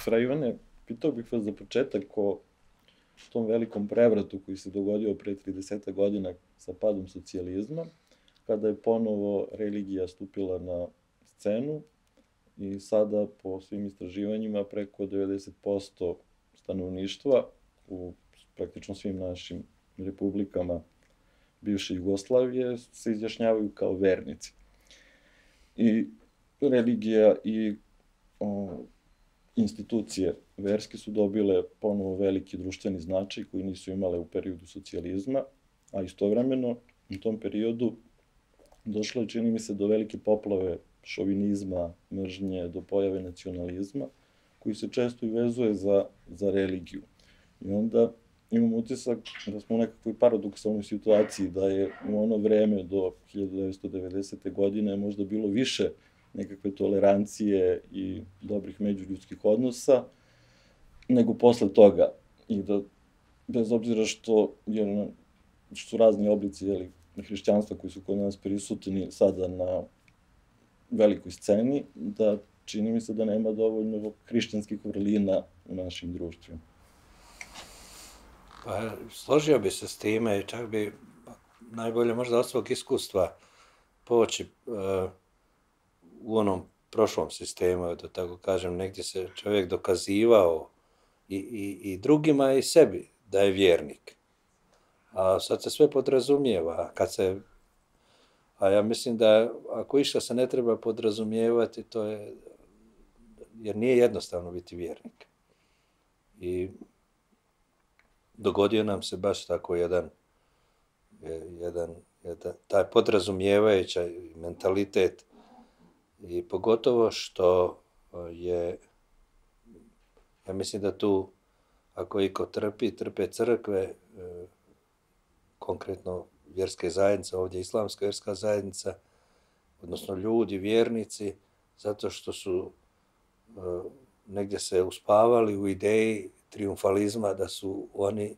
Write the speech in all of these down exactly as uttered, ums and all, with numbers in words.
Fra Ivane, pitao bih vas za početak o tom velikom prevratu koji se dogodio pre trideset godina sa padom socijalizma, kada je ponovo religija stupila na scenu i sada po svim istraživanjima preko devedeset posto stanovništva u praktično svim našim republikama bivše Jugoslavije se izjašnjavaju kao vernici. I religija i o, institucije verske su dobile ponovo veliki društveni značaj koji nisu imale u periodu socijalizma, a istovremeno u tom periodu došlo je, čini mi se, do velike poplave šovinizma, mržnje, do pojave nacionalizma, koji se često i vezuje za, za religiju. I onda imam utisak da smo u nekakvoj paradoksalnoj situaciji, da je u ono vreme do hiljadu devetsto devedesete. godine možda bilo više nekakve tolerancije i dobrih međuljudskih odnosa, nego posle toga. I da, bez obzira što, je, što su razni oblici jeli, hrišćanstva koji su kod nas prisutni sada na velikoj sceni, da čini mi se da nema dovoljno hrišćanskih vrlina u našim društvima. Pa, složio bi se s time, čak bi najbolje možda od svog iskustva poći uh, u onom prošlom sistemu, da tako kažem, negdje se čovjek dokazivao i, i, i drugima i sebi da je vjernik. A sad se sve podrazumijeva, kad se, a ja mislim da ako išta se ne treba podrazumijevati, to je, jer nije jednostavno biti vjernik. I dogodio nam se baš tako jedan, jedan, jedan taj podrazumijevajući mentalitet i pogotovo što je, ja mislim da tu, ako iko trpi, trpe crkve, konkretno vjerske zajednice, ovdje islamska vjerska zajednica, odnosno ljudi, vjernici, zato što su negdje se uspavali u ideji triumfalizma da su oni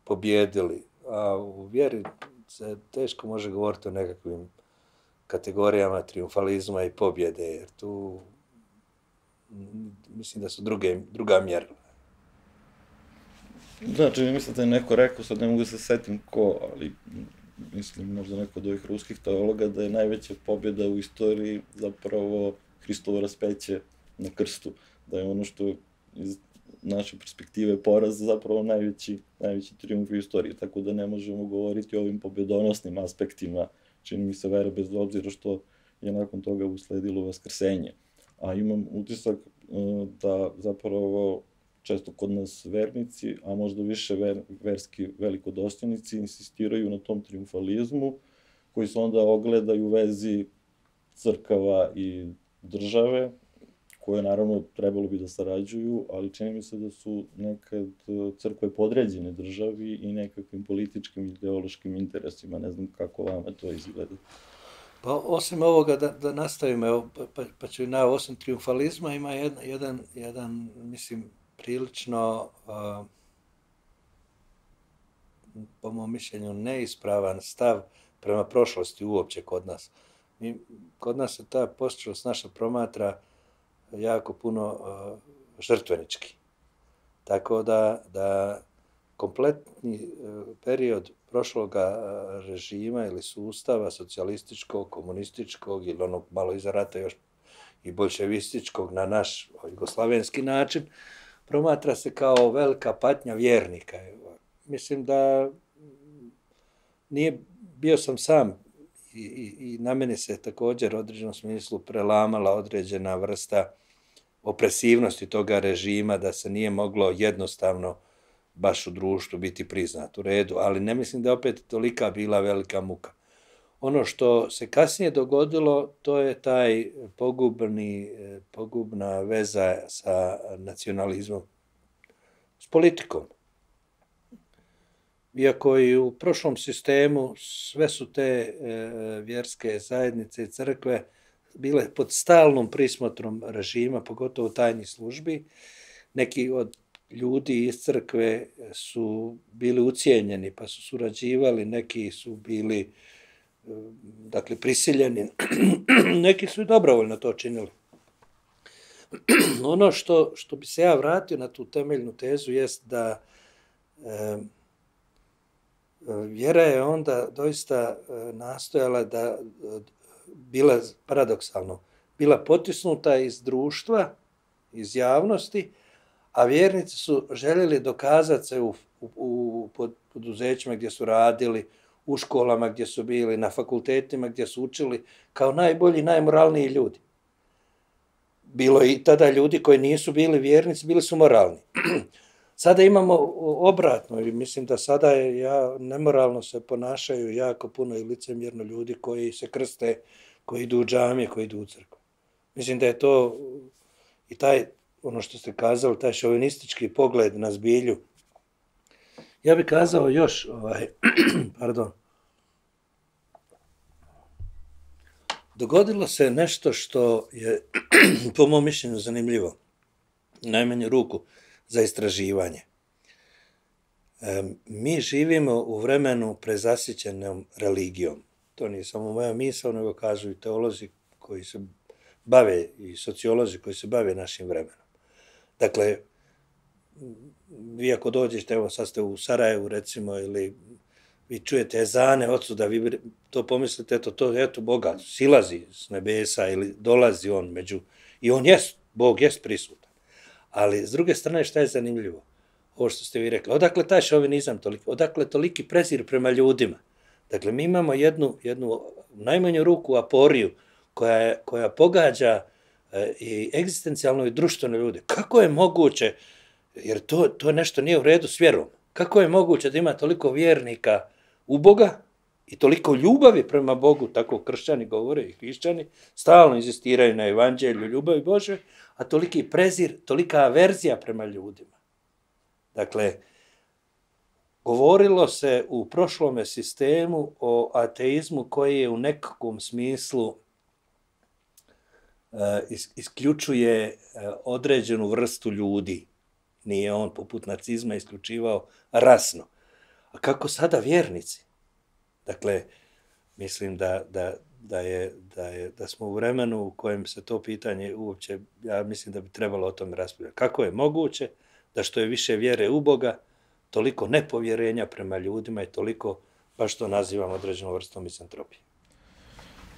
pobjedili. A u vjeri se teško može govoriti o nekakvim kategorijama triumfalizma i pobjede, jer tu mislim da su druge, druga mjerila. Znači, mi mislite neko rekao, sad ne mogu se setim ko, ali mislim možda neko od ovih ruskih teologa, da je najveća pobjeda u istoriji zapravo Hristovo raspeće na krstu, da je ono što iz naše perspektive poraz zapravo najveći, najveći triumf u istoriji, tako da ne možemo govoriti o ovim pobjedonosnim aspektima, čini mi se vere, bez obzira što je nakon toga usledilo vaskrsenje. A imam utisak da zapravo često kod nas vernici, a možda više ver, verski velikodostojnici, insistiraju na tom triumfalizmu, koji se onda ogleda i u vezi crkava i države, koje naravno trebalo bi da sarađuju, ali čini mi se da su nekad crkve podređene državi i nekakvim političkim i ideološkim interesima. Ne znam kako vama to izgleda. Pa osim ovoga, da, da nastavimo, evo, pa, pa ću na osim triumfalizma ima jedan, jedan, jedan mislim, prilično, uh, po mom mišljenju, neispravan stav prema prošlosti uopće kod nas. Mi, kod nas se ta prošlost naša promatra jako puno uh, žrtvenički. Tako da, da kompletni uh, period prošloga uh, režima ili sustava socijalističkog, komunističkog ili onog malo iza rata još i bolševističkog na naš jugoslavenski način, promatra se kao velika patnja vjernika. Mislim da nije, bio sam sam i, i, i na mene se također u određenom smislu prelamala određena vrsta opresivnosti toga režima, da se nije moglo jednostavno baš u društvu biti priznat u redu, ali ne mislim da je opet tolika bila velika muka. Ono što se kasnije dogodilo, to je taj pogubni, pogubna veza sa nacionalizmom, s politikom. Iako i u prošlom sistemu sve su te e, vjerske zajednice i crkve bile pod stalnom prismotrom režima, pogotovo tajnih službi. Neki od ljudi iz crkve su bili ucijenjeni pa su surađivali, neki su bili dakle prisiljeni, neki su i dobrovoljno to činili. ono što, što bi se ja vratio na tu temeljnu tezu jest da e, vjera je onda doista nastojala da, bila paradoksalno, bila potisnuta iz društva, iz javnosti, a vjernici su željeli dokazati se u, u, u poduzećima gdje su radili, u školama gdje su bili, na fakultetima gdje su učili, kao najbolji, najmoralniji ljudi. Bilo je i tada ljudi koji nisu bili vjernici, bili su moralni. Sada imamo obratno, i mislim da sada je, ja, nemoralno se ponašaju jako puno i licemjerno ljudi koji se krste, koji idu u džamije, koji idu u crkvu. Mislim da je to i taj, ono što ste kazali, taj šovinistički pogled na zbilju. Ja bih kazao još, ovaj, pardon, dogodilo se nešto što je, po mom mišljenju, zanimljivo, najmanju ruku, za istraživanje. E, mi živimo u vremenu prezasićenom religijom. To nije samo moja misao, nego kažu i teolozi koji se bave, i sociolozi koji se bave našim vremenom. Dakle, vi ako dođete, evo sad ste u Sarajevu recimo, ili vi čujete ezane odsuda, vi to pomislite, eto, to, eto, Boga silazi s nebesa ili dolazi on među, i on jest, Bog jest prisutan. Ali s druge strane šta je zanimljivo? Ovo što ste vi rekli, odakle taj šovinizam toliko, odakle toliki prezir prema ljudima? Dakle, mi imamo jednu, jednu najmanju ruku aporiju koja, je, koja pogađa e, i egzistencijalno i društveno ljude. Kako je moguće, jer to, to nešto nije u redu s vjerom, kako je moguće da ima toliko vjernika u Boga i toliko ljubavi prema Bogu, tako kršćani govore i hrišćani, stalno inzistiraju na evanđelju ljubavi Bože, a toliki prezir, tolika averzija prema ljudima. Dakle, govorilo se u prošlome sistemu o ateizmu koji je u nekakvom smislu uh, isključuje uh, određenu vrstu ljudi. Nije on poput nacizma isključivao rasno. A kako sada vjernici? Dakle, mislim da, da, da, je, da, je, da smo u vremenu u kojem se to pitanje uopće, ja mislim da bi trebalo o tome raspravljati. Kako je moguće da što je više vjere u Boga, toliko nepovjerenja prema ljudima i toliko, baš to nazivam određenom vrstom mizantropije.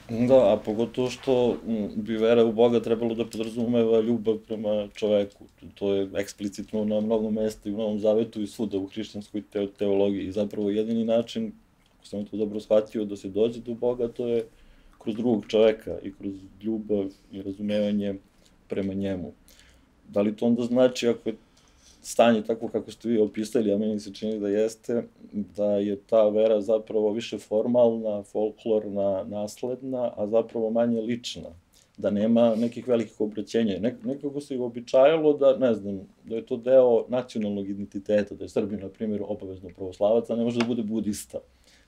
Da, a pogotovo što bi vera u Boga trebalo da podrazumeva ljubav prema čoveku. To je eksplicitno na mnogom mesta i u Novom Zavetu i svuda u hrišćanskoj teologiji. I zapravo jedini način, ako sam to dobro shvatio, da se dođe do Boga, to je kroz drugog čoveka i kroz ljubav i razumevanje prema njemu. Da li to onda znači, ako je stanje tako kako ste vi opisali, a meni se čini da jeste, da je ta vera zapravo više formalna, folklorna, nasledna, a zapravo manje lična, da nema nekih velikih obraćenja. Nek, nekako se uobičajalo da, ne znam, da je to deo nacionalnog identiteta, da je Srbin, na primjer, obavezno pravoslavac, a ne može da bude budista,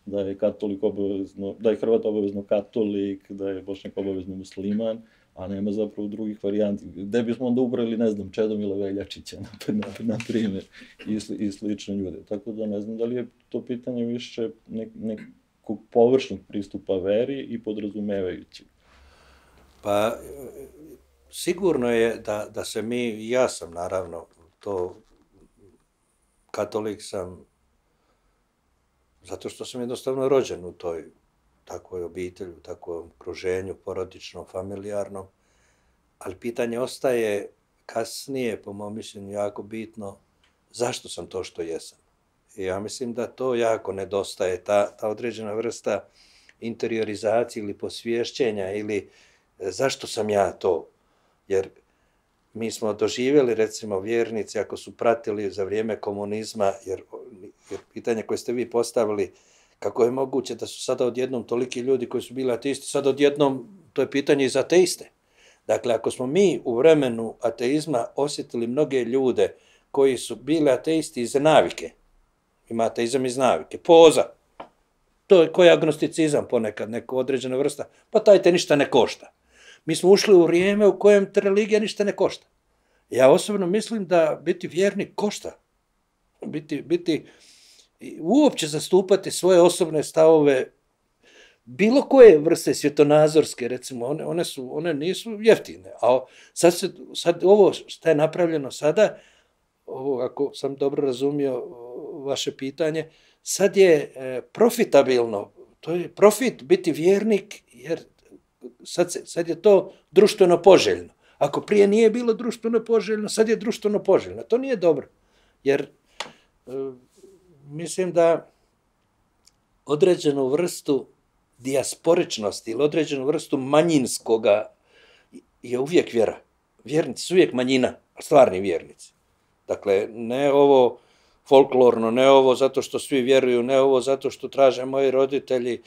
da je katolik obavezno, da je Hrvat obavezno katolik, da je Bošnjak obavezno musliman, a nema zapravo drugih varijanti. Gde bismo onda ubrali, ne znam, Čedomila Veljačića, na, na primjer, i, sli, i slične ljude. Tako da ne znam da li je to pitanje više nek, nekog površnog pristupa veri i podrazumevajući. Pa, sigurno je da, da se mi, ja sam naravno, to katolik sam, zato što sam jednostavno rođen u toj takvoj obitelji, u takvom okruženju, porodičnom, familijarnom, ali pitanje ostaje kasnije, po mom mišljenju, jako bitno, zašto sam to što jesam. I ja mislim da to jako nedostaje, ta, ta određena vrsta interiorizacije ili posvješćenja, ili zašto sam ja to, jer mi smo doživjeli, recimo, vjernici, ako su pratili za vrijeme komunizma, jer, jer pitanje koje ste vi postavili, kako je moguće da su sada odjednom toliki ljudi koji su bili ateisti, sada odjednom, to je pitanje i za ateiste. Dakle, ako smo mi u vremenu ateizma osjetili mnoge ljude koji su bili ateisti iz navike, ima ateizam iz navike, poza, to je koji agnosticizam ponekad, neka određena vrsta, pa taj te ništa ne košta. Mi smo ušli u vrijeme u kojem te religija ništa ne košta. Ja osobno mislim da biti vjernik košta. Biti, biti uopće zastupati svoje osobne stavove, bilo koje vrste svjetonazorske, recimo, one, one, su, one nisu jeftine. A sad, se, sad ovo što je napravljeno sada, ovo, ako sam dobro razumio vaše pitanje, sad je profitabilno, to je profit biti vjernik, jer sad, se, sad je to društveno poželjno. Ako prije nije bilo društveno poželjno, sad je društveno poželjno. To nije dobro, jer e, mislim da određenu vrstu dijasporičnosti ili određenu vrstu manjinskoga je uvijek vjera. Vjernici su uvijek manjina, stvarni vjernici. Dakle, ne ovo folklorno, ne ovo zato što svi vjeruju, ne ovo zato što traže moji roditelji.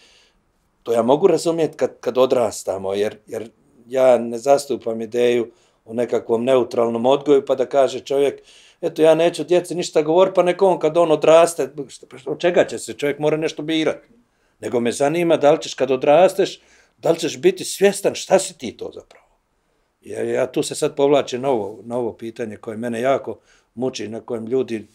To ja mogu razumjeti kad, kad odrastamo, jer, jer ja ne zastupam ideju o nekakvom neutralnom odgoju, pa da kaže čovjek, eto ja neću djeci ništa govoriti, pa neko on kad on odraste, od čega će se, čovjek mora nešto birati. Nego me zanima da li ćeš kad odrasteš, da li ćeš biti svjestan šta si ti to zapravo. Ja, ja tu se sad povlačim na ovo, na ovo pitanje koje mene jako muči, na kojem ljudi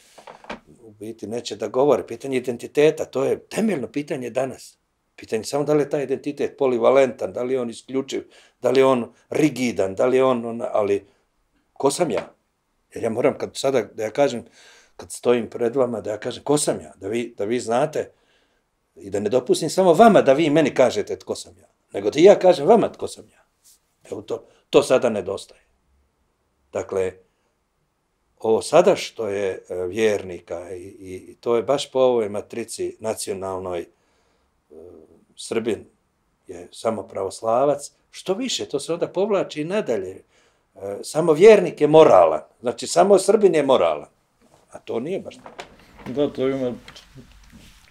u biti neće da govore. Pitanje identiteta, to je temeljno pitanje danas. Pitanje samo da li je taj identitet polivalentan, da li je on isključiv, da li je on rigidan, da li je on, on ali ko sam ja? Jer ja moram kad sada, da ja kažem, kad stojim pred vama, da ja kažem ko sam ja, da vi, da vi znate i da ne dopustim samo vama da vi meni kažete tko sam ja, nego da ja kažem vama tko sam ja. Evo to, to sada nedostaje. Dakle, ovo sada što je vjernika i, i, i to je baš po ovoj matrici nacionalnoj, Srbin je samo pravoslavac, što više, to se onda povlači i nadalje. Samo vjernik je moralan, znači samo Srbin je moralan, a to nije baš tako. Da, to ima,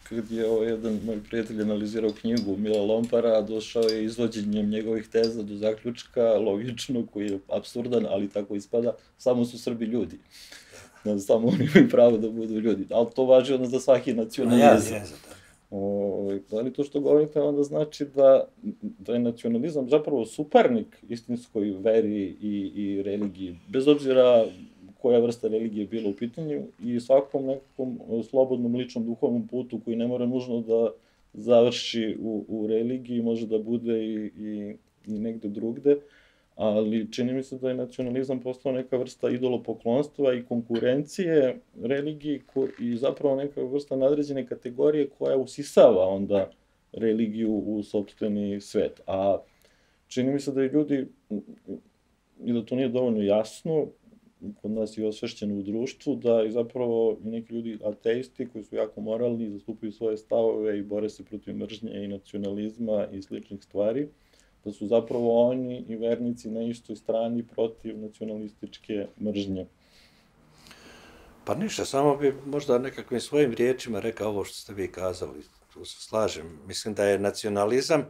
kad je ovo jedan moj prijatelj analizirao knjigu Mila Lompara, došao je izvođenjem njegovih teza do zaključka, logično, koji je apsurdan, ali tako ispada, samo su Srbi ljudi. Da, samo oni imaju pravo da budu ljudi, ali to važi onda za svaki nacionalizam. Ja, O, ali to što govorite onda znači da, da je nacionalizam zapravo suparnik istinskoj veri i, i religiji, bez obzira koja vrsta religije je bila u pitanju i svakom nekakvom slobodnom ličnom duhovnom putu koji ne mora nužno da završi u, u religiji, može da bude i, i, i negde drugde, ali čini mi se da je nacionalizam postao neka vrsta idolopoklonstva i konkurencije religiji i zapravo neka vrsta nadređene kategorije koja usisava onda religiju u sopstveni svet. A čini mi se da i ljudi, i da to nije dovoljno jasno, kod nas je osvešćeno u društvu, da i zapravo i neki ljudi ateisti koji su jako moralni, zastupaju svoje stavove i bore se protiv mržnje i nacionalizma i sličnih stvari, da su zapravo oni i vernici na istoj strani protiv nacionalističke mržnje. Pa ništa, samo bi možda nekakvim svojim riječima rekao ovo što ste vi kazali, tu se slažem. Mislim da je nacionalizam e,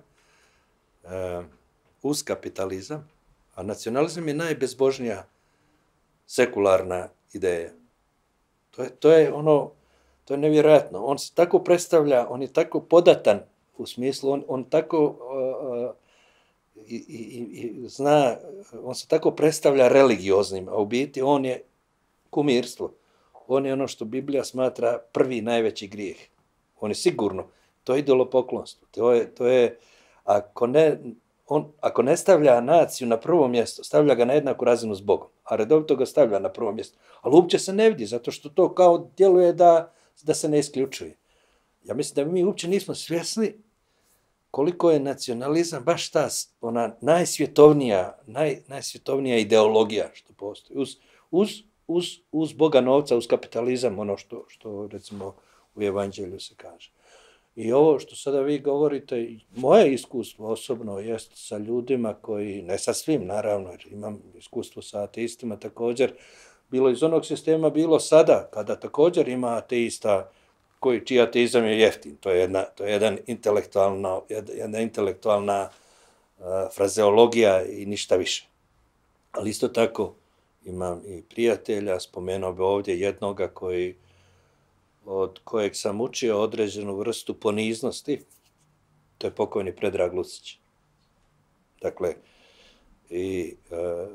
uz kapitalizam, a nacionalizam je najbezbožnija sekularna ideja. To je, to je ono, to je nevjerojatno. On se tako predstavlja, on je tako podatan u smislu, on, on tako uh, i, i, i zna, on se tako predstavlja religioznim, a u biti on je kumirstvo. On je ono što Biblija smatra prvi najveći grijeh. On je sigurno, to je idolopoklonstvo. To je, to je ako ne, on, ako ne stavlja naciju na prvo mjesto, stavlja ga na jednaku razinu s Bogom, a redovito ga stavlja na prvo mjesto. Ali uopće se ne vidi, zato što to kao djeluje da, da se ne isključuje. Ja mislim da mi uopće nismo svjesni koliko je nacionalizam baš ta ona najsvjetovnija, naj, najsvjetovnija ideologija što postoji. Uz, uz, uz, uz Boga novca, uz kapitalizam, ono što, što recimo u Evanđelju se kaže. I ovo što sada vi govorite, moje iskustvo osobno jest sa ljudima koji, ne sa svim naravno, jer imam iskustvo sa ateistima također, bilo iz onog sistema, bilo sada, kada također ima ateista koji, čiji ateizam je jeftin. To je jedna, to je jedan intelektualna, jedna intelektualna uh, frazeologija i ništa više. Ali isto tako imam i prijatelja, spomenuo bi ovdje jednoga koji od kojeg sam učio određenu vrstu poniznosti, to je pokojni Predrag Lucić. Dakle, i e,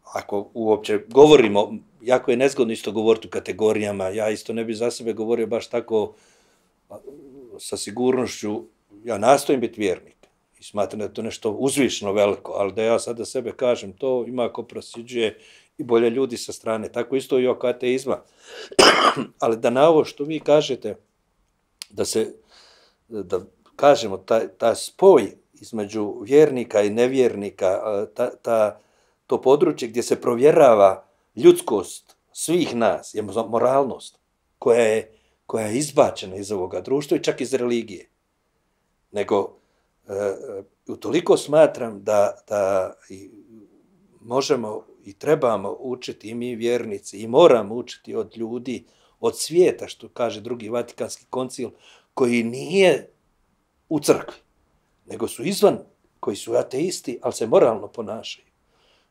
ako uopće govorimo, jako je nezgodno isto govoriti u kategorijama, ja isto ne bi za sebe govorio baš tako sa sigurnošću ja nastojim biti vjernik i smatram da je to nešto uzvišno veliko, ali da ja sada sebe kažem to, ima ko prosjeđuje i bolje ljudi sa strane. Tako isto i oko ateizma. Ali da na ovo što vi kažete, da se, da kažemo, ta, ta spoj između vjernika i nevjernika, ta, ta, to područje gdje se provjerava ljudskost svih nas, je moralnost, koja je, koja je izbačena iz ovoga društva i čak iz religije. Nego, e, utoliko smatram da, da i možemo i trebamo učiti i mi vjernici i moramo učiti od ljudi, od svijeta, što kaže drugi Vatikanski koncil, koji nije u crkvi, nego su izvan, koji su ateisti, ali se moralno ponašaju.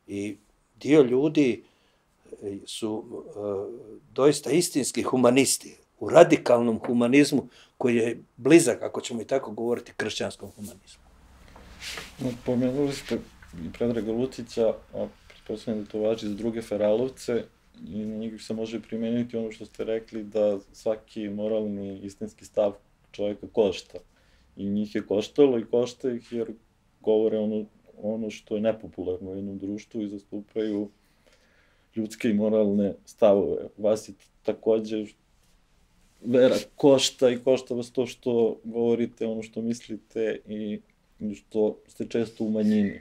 I dio ljudi su uh, doista istinski humanisti, u radikalnom humanizmu koji je blizak, ako ćemo i tako govoriti, kršćanskom humanizmu. No, pomenuli ste i Predraga Lucića, a pretpostavljam da to važi za druge feralovce, i na njih se može primeniti ono što ste rekli, da svaki moralni, istinski stav čovjeka košta. I njih je koštalo i košta ih jer govore ono, ono što je nepopularno u jednom društvu i zastupaju ljudske i moralne stavove. Vas je takođe vera košta i košta vas to što govorite, ono što mislite i što ste često u manjini.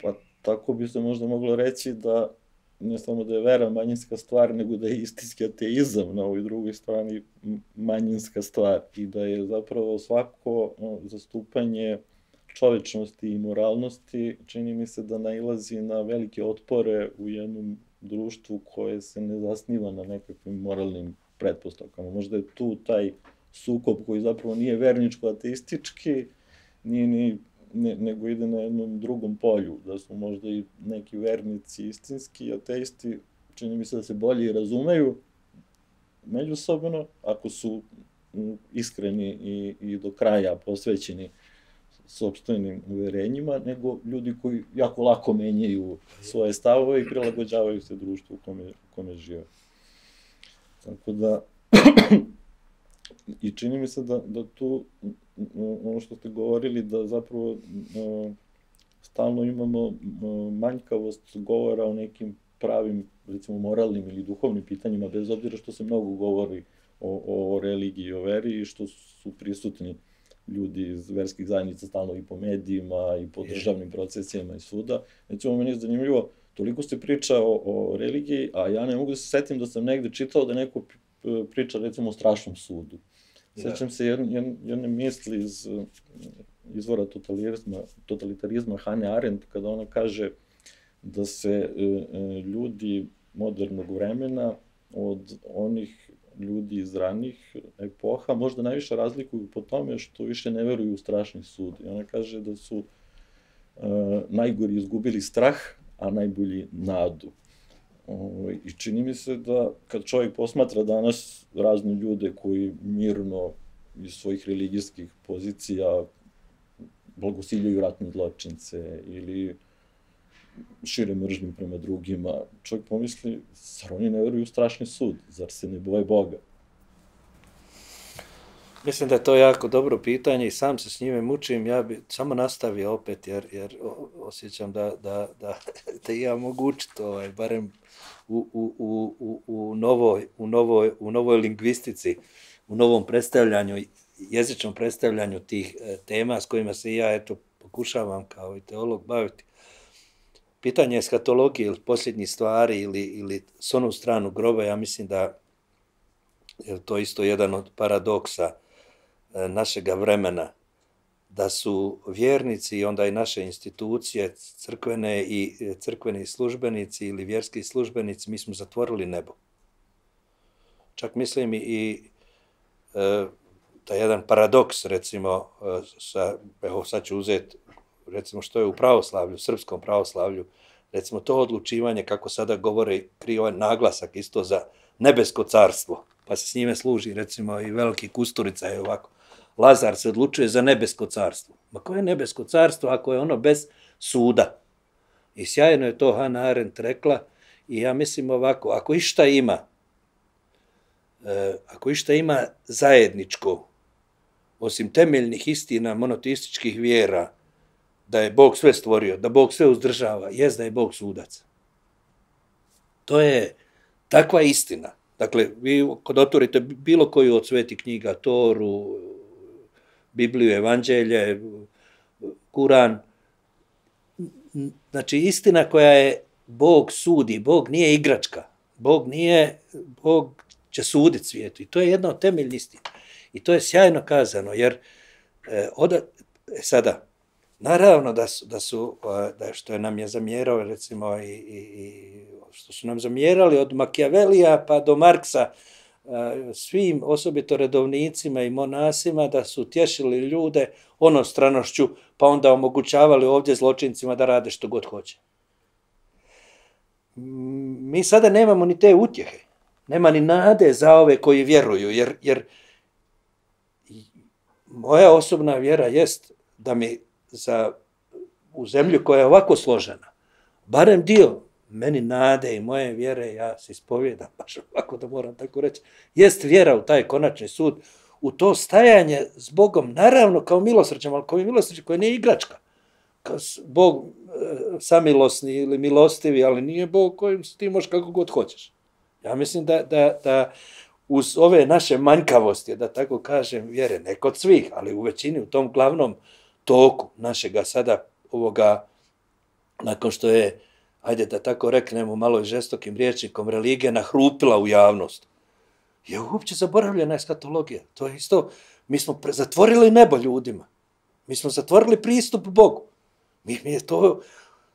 Pa tako bi se možda moglo reći da ne samo da je vera manjinska stvar, nego da je istinski ateizam na ovoj drugoj strani manjinska stvar i da je zapravo svako zastupanje čovečnosti i moralnosti, čini mi se da nailazi na velike otpore u jednom društvu koje se ne zasniva na nekakvim moralnim pretpostavkama. Možda je tu taj sukob koji zapravo nije verničko-ateistički, nije ni, ne, nego ide na jednom drugom polju, da su možda i neki vernici istinski, ateisti, čini mi se da se bolje razumeju međusobno, ako su iskreni i, i do kraja posvećeni sopstvenim uverenjima, nego ljudi koji jako lako menjaju svoje stavove i prilagođavaju se društvu u kome, u kome žive. Tako da, i čini mi se da, da tu, ono što ste govorili, da zapravo stalno imamo manjkavost govora o nekim pravim, recimo moralnim ili duhovnim pitanjima, bez obzira što se mnogo govori o, o religiji i o veri i što su prisutni ljudi iz verskih zajednica stalno i po medijima i po državnim procesima i svuda. Recimo, meni je zanimljivo, toliko se priča o, o religiji, a ja ne mogu da se setim da sam negde čitao da neko priča, recimo, o strašnom sudu. Sećam se jedne, jedne misli iz izvora totalitarizma, totalitarizma Hane Arendt, kada ona kaže da se ljudi modernog vremena od onih ljudi iz ranih epoha možda najviše razlikuju po tome što više ne veruju u strašni sud. I ona kaže da su uh, najgori izgubili strah, a najbolji nadu. Uh, I čini mi se da kad čovjek posmatra danas razne ljude koji mirno iz svojih religijskih pozicija blagosiljaju ratne zločince ili šire mržnju prema drugima, čovjek pomisli, zar oni ne veruju u strašni sud, zar se ne boje Boga? Mislim da je to jako dobro pitanje i sam se s njime mučim, ja bi samo nastavio opet, jer, jer osjećam da, da, da, da ja mogu učiti, ovaj, barem u, u, u, u, novoj, u, novoj, u novoj lingvistici, u novom predstavljanju, jezičnom predstavljanju tih tema s kojima se ja eto, pokušavam kao i teolog baviti. Pitanje eskatologije ili posljednjih stvari ili, ili s onu stranu groba, ja mislim da je to isto jedan od paradoksa našega vremena, da su vjernici i onda i naše institucije, crkvene i crkveni službenici ili vjerski službenici, mi smo zatvorili nebo. Čak mislim i, i e, taj jedan paradoks, recimo, sa, evo sad ću uzeti, recimo što je u pravoslavlju, srpskom pravoslavlju, recimo to odlučivanje, kako sada govore, krije ovaj naglasak isto za nebesko carstvo, pa se s njime služi, recimo, i veliki Kusturica je ovako. Lazar se odlučuje za nebesko carstvo. Ma koje je nebesko carstvo ako je ono bez suda? I sjajno je to Hannah Arendt rekla i ja mislim ovako, ako išta ima, ako išta ima zajedničko osim temeljnih istina monoteističkih vjera, da je Bog sve stvorio, da Bog sve uzdržava, jest da je Bog sudac. To je takva istina. Dakle, vi kad otvorite bilo koju od svetih knjiga, Toru, Bibliju, Evanđelje, Kuran, znači istina koja je Bog sudi, Bog nije igračka, Bog nije, Bog će suditi svijetu i to je jedna od temeljnih istina. I to je sjajno kazano, jer e, oda, e, sada, naravno da su, da su da što je nam je zamjerao, recimo, i, i, i što su nam zamjerali od Machiavellija pa do Marksa, svim, osobito redovnicima i monasima, da su tješili ljude onostranošću, pa onda omogućavali ovdje zločincima da rade što god hoće. Mi sada nemamo ni te utjehe, nema ni nade za ove koji vjeruju, jer, jer moja osobna vjera jest da mi za, u zemlju koja je ovako složena, barem dio meni nade i moje vjere, ja se ispovjedam, baš ovako da moram tako reći, jest vjera u taj konačni sud, u to stajanje s Bogom, naravno kao milosrđem, ali kao i milosrđe koje nije igračka. Kao Bog e, samilosni ili milostivi, ali nije Bog kojim ti možeš kako god hoćeš. Ja mislim da, da, da uz ove naše manjkavosti, da tako kažem, vjere, ne kod svih, ali u većini, u tom glavnom toku našega sada ovoga, nakon što je, ajde da tako reknemo malo i žestokim rječnikom, religija nahrupila u javnost, je uopće zaboravljena eskatologija. To je isto, mi smo zatvorili nebo ljudima. Mi smo zatvorili pristup Bogu. Mi, mi je to,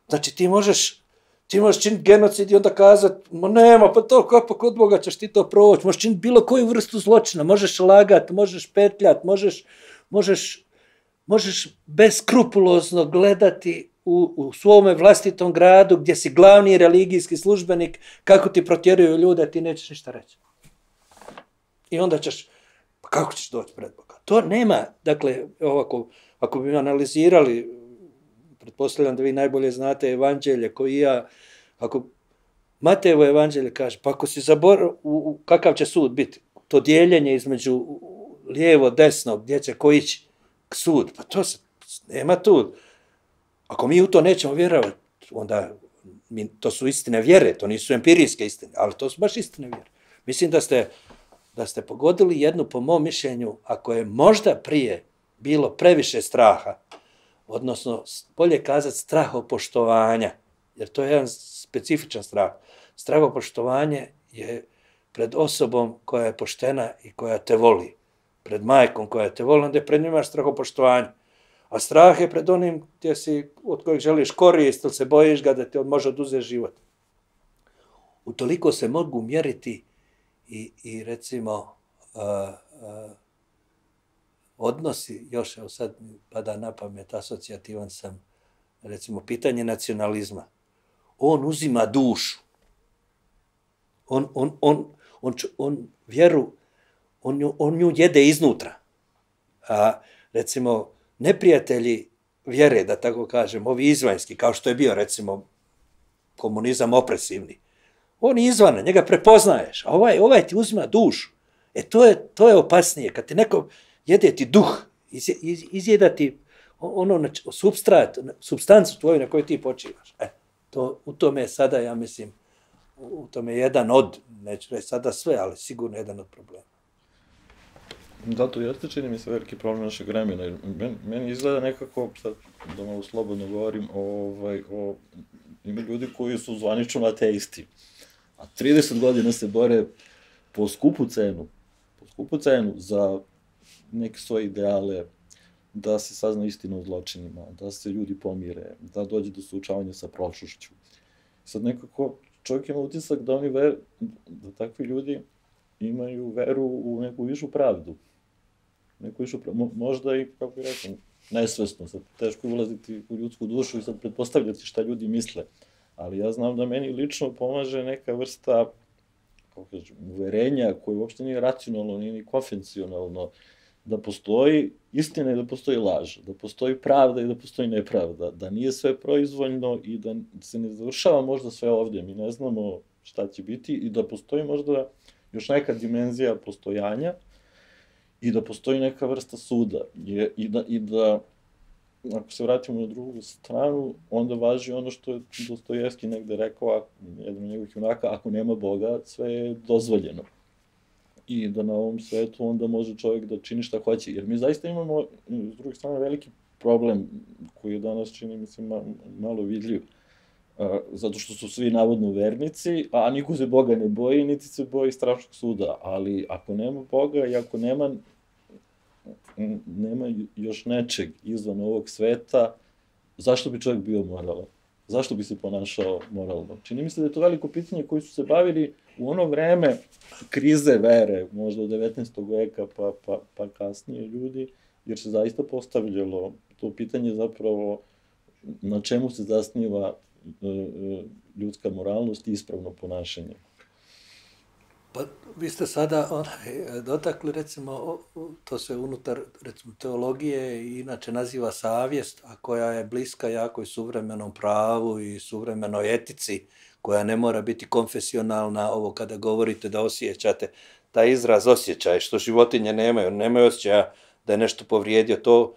znači ti možeš, ti možeš činiti genocid i onda kazati, ma nema, pa to kako kod Boga ćeš ti to proći, možeš činiti bilo koju vrstu zločina, možeš lagat, možeš petljat, možeš, možeš, možeš beskrupulozno gledati u, u svome vlastitom gradu gdje si glavni religijski službenik, kako ti protjeruju ljude, ti nećeš ništa reći. I onda ćeš, pa kako ćeš doći pred Boga? To nema, dakle, ovako, ako bi analizirali, pretpostavljam da vi najbolje znate evanđelje koji ja, ako Matejevo evanđelje kaže, pa ako si zaboravio, kakav će sud biti? To dijeljenje između lijevo, desno, gdje će ko ići sud, pa to se, nema tu. Ako mi u to nećemo vjerovati, onda mi, to su istine vjere, to nisu empirijske istine, ali to su baš istine vjere. Mislim da ste, da ste pogodili jednu, po mom mišljenju, ako je možda prije bilo previše straha, odnosno, bolje kazati, strahopoštovanja, jer to je jedan specifičan strah. Strahopoštovanje je pred osobom koja je poštena i koja te voli, pred majkom koja te voli, onda je pred njima imaš strahopoštovanje. A strah je pred onim gdje si, od kojeg želiš korist, ili se bojiš ga da ti može oduzeti život. Utoliko se mogu mjeriti i, i recimo, uh, uh, odnosi, još evo sad mi pada na pamet, asocijativan sam, recimo, pitanje nacionalizma. On uzima dušu. On, on, on, on, on vjeru, on nju, on nju jede iznutra. A, recimo, neprijatelji vjere, da tako kažem, ovi izvanjski, kao što je bio, recimo, komunizam opresivni, on je izvana, njega prepoznaješ, a ovaj, ovaj ti uzima dušu. E, to je, to je opasnije. Kad ti neko jede ti duh, iz, iz, izjeda ti ono substrat, substancu tvoju na kojoj ti počivaš. E, to, u tome je sada, ja mislim, u tome je jedan od, neću reći sada sve, ali sigurno jedan od problema. Da, to jeste, čini mi se, veliki problem našeg vremena. Men, meni izgleda nekako, sad da malo slobodno govorim, ovaj, o, ima ljudi koji su zvanično ateisti, a trideset godina se bore po skupu cenu, po skupu cenu za neke svoje ideale, da se sazna istina o zločinima, da se ljudi pomire, da dođe do suočavanja sa prošlošću. Sad nekako čovjek ima utisak da oni ver, da takvi ljudi imaju veru u neku višu pravdu. Neku višu pravdu. Možda i, kako bih rekao, nesvesno, sad teško je ulaziti u ljudsku dušu i sad pretpostavljati šta ljudi misle. Ali ja znam da meni lično pomaže neka vrsta, kako kažem, uverenja koje uopšte nije racionalno, nije ni konvencionalno, da postoji istina i da postoji laž, da postoji pravda i da postoji nepravda, da nije sve proizvoljno i da se ne završava možda sve ovdje, mi ne znamo šta će biti i da postoji možda još neka dimenzija postojanja i da postoji neka vrsta suda. Je, i, da, I da, ako se vratimo na drugu stranu, onda važi ono što je Dostojevski negde rekao, jedan od njegovih junaka, ako nema Boga, sve je dozvoljeno. I da na ovom svetu onda može čovjek da čini šta hoće. Jer mi zaista imamo, s druge strane, veliki problem koji je danas, čini mi se, malo vidljiv. Zato što su svi navodno vernici, a niko se Boga ne boji, niti se boji strašnog suda. Ali ako nema Boga i ako nema, nema još nečeg izvan ovog sveta, zašto bi čovjek bio moralan? Zašto bi se ponašao moralno? Čini mi se da je to veliko pitanje koji su se bavili u ono vreme krize vere, možda od devetnaestog veka pa, pa, pa kasnije ljudi, jer se zaista postavljalo to pitanje zapravo na čemu se zasniva ljudska moralnost i ispravno ponašanje. Pa vi ste sada onaj, dotakli, recimo, to se unutar, recimo, teologije i inače naziva savjest, a koja je bliska jako i suvremenom pravu i suvremenoj etici, koja ne mora biti konfesionalna, ovo kada govorite da osjećate, taj izraz osjećaj, što životinje nemaju, nemaju osjećaja da je nešto povrijedio, to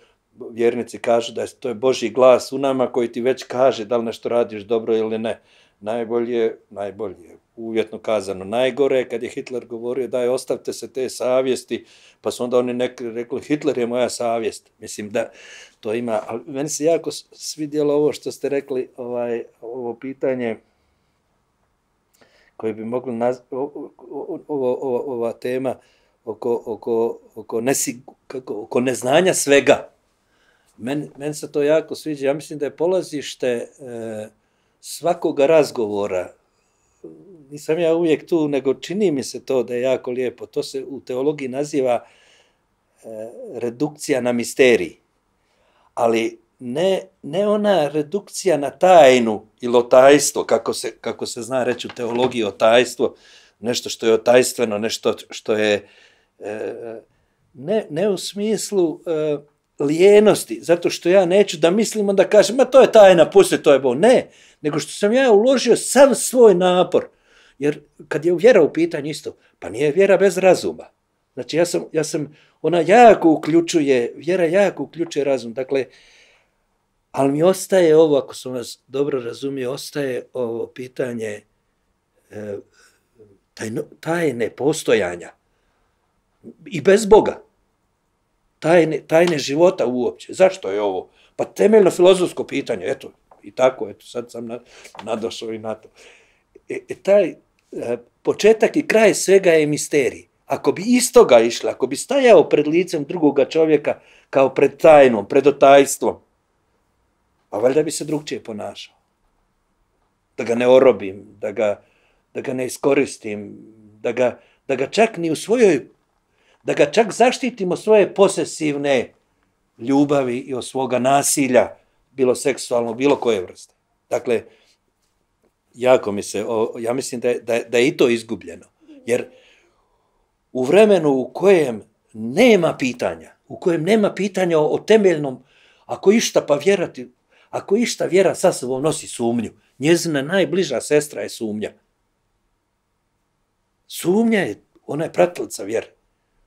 vjernici kažu da je to je Božji glas u nama koji ti već kaže da li nešto radiš dobro ili ne. Najbolje, najbolje, uvjetno kazano, najgore kad je Hitler govorio daj ostavite se te savjesti, pa su onda oni neki rekli Hitler je moja savjest. Mislim da to ima, ali meni se jako svidjelo ovo što ste rekli, ovaj, ovo pitanje koje bi mogli nazvati, ova tema oko, oko, oko, nesigu, kako, oko neznanja svega. Meni men se to jako sviđa. Ja mislim da je polazište e, svakoga razgovora, nisam ja uvijek tu, nego čini mi se to da je jako lijepo. To se u teologiji naziva e, redukcija na misterij. Ali ne, ne ona redukcija na tajnu ili otajstvo, kako se, kako se zna reći u teologiji otajstvo, nešto što je otajstveno, nešto što je e, ne, ne u smislu e, lijenosti, zato što ja neću da mislim, onda kažem, ma to je tajna, pusti, to je Bog. Ne, nego što sam ja uložio sav svoj napor. Jer kad je vjera u pitanju isto, pa nije vjera bez razuma. Znači ja sam, ja sam, ona jako uključuje, vjera jako uključuje razum. Dakle, ali mi ostaje ovo, ako sam vas dobro razumio, ostaje ovo pitanje e, tajno, tajne postojanja. I bez Boga. Tajne, tajne života uopće. Zašto je ovo? Pa temeljno filozofsko pitanje, eto, i tako, eto, sad sam nadošao i na to. E, e, taj e, početak i kraj svega je misterij. Ako bi istoga išla, ako bi stajao pred licem drugoga čovjeka kao pred tajnom, pred otajstvom, pa valjda bi se drugčije ponašao. Da ga ne orobim, da ga, da ga ne iskoristim, da ga, da ga čak ni u svojoj da ga čak zaštitimo svoje posesivne ljubavi i od svoga nasilja, bilo seksualno, bilo koje vrste. Dakle, jako mi se, ja mislim da je, da je, da je i to izgubljeno. Jer u vremenu u kojem nema pitanja, u kojem nema pitanja o, o temeljnom, ako išta pa vjerati, ako išta vjera sa sobom nosi sumnju, njezina najbliža sestra je sumnja. Sumnja je, ona je pratilica vjere.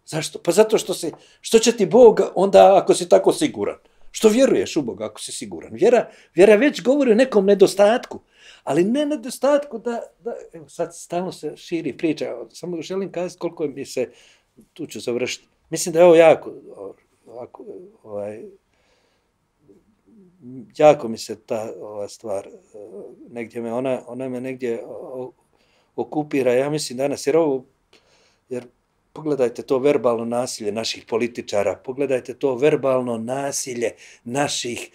Zašto? Pa zato što se, što će ti Bog onda ako si tako siguran? Što vjeruješ u Boga ako si siguran? Vjera, vjera već govori o nekom nedostatku, ali ne nedostatku da, da evo sad stalno se širi priča, samo želim kazati koliko mi se, tu ću završiti, mislim da je ovo jako, ovako, ovaj, jako mi se ta ova stvar, negdje me, ona, ona me negdje okupira, ja mislim danas, jer ovo, jer pogledajte to verbalno nasilje naših političara, pogledajte to verbalno nasilje naših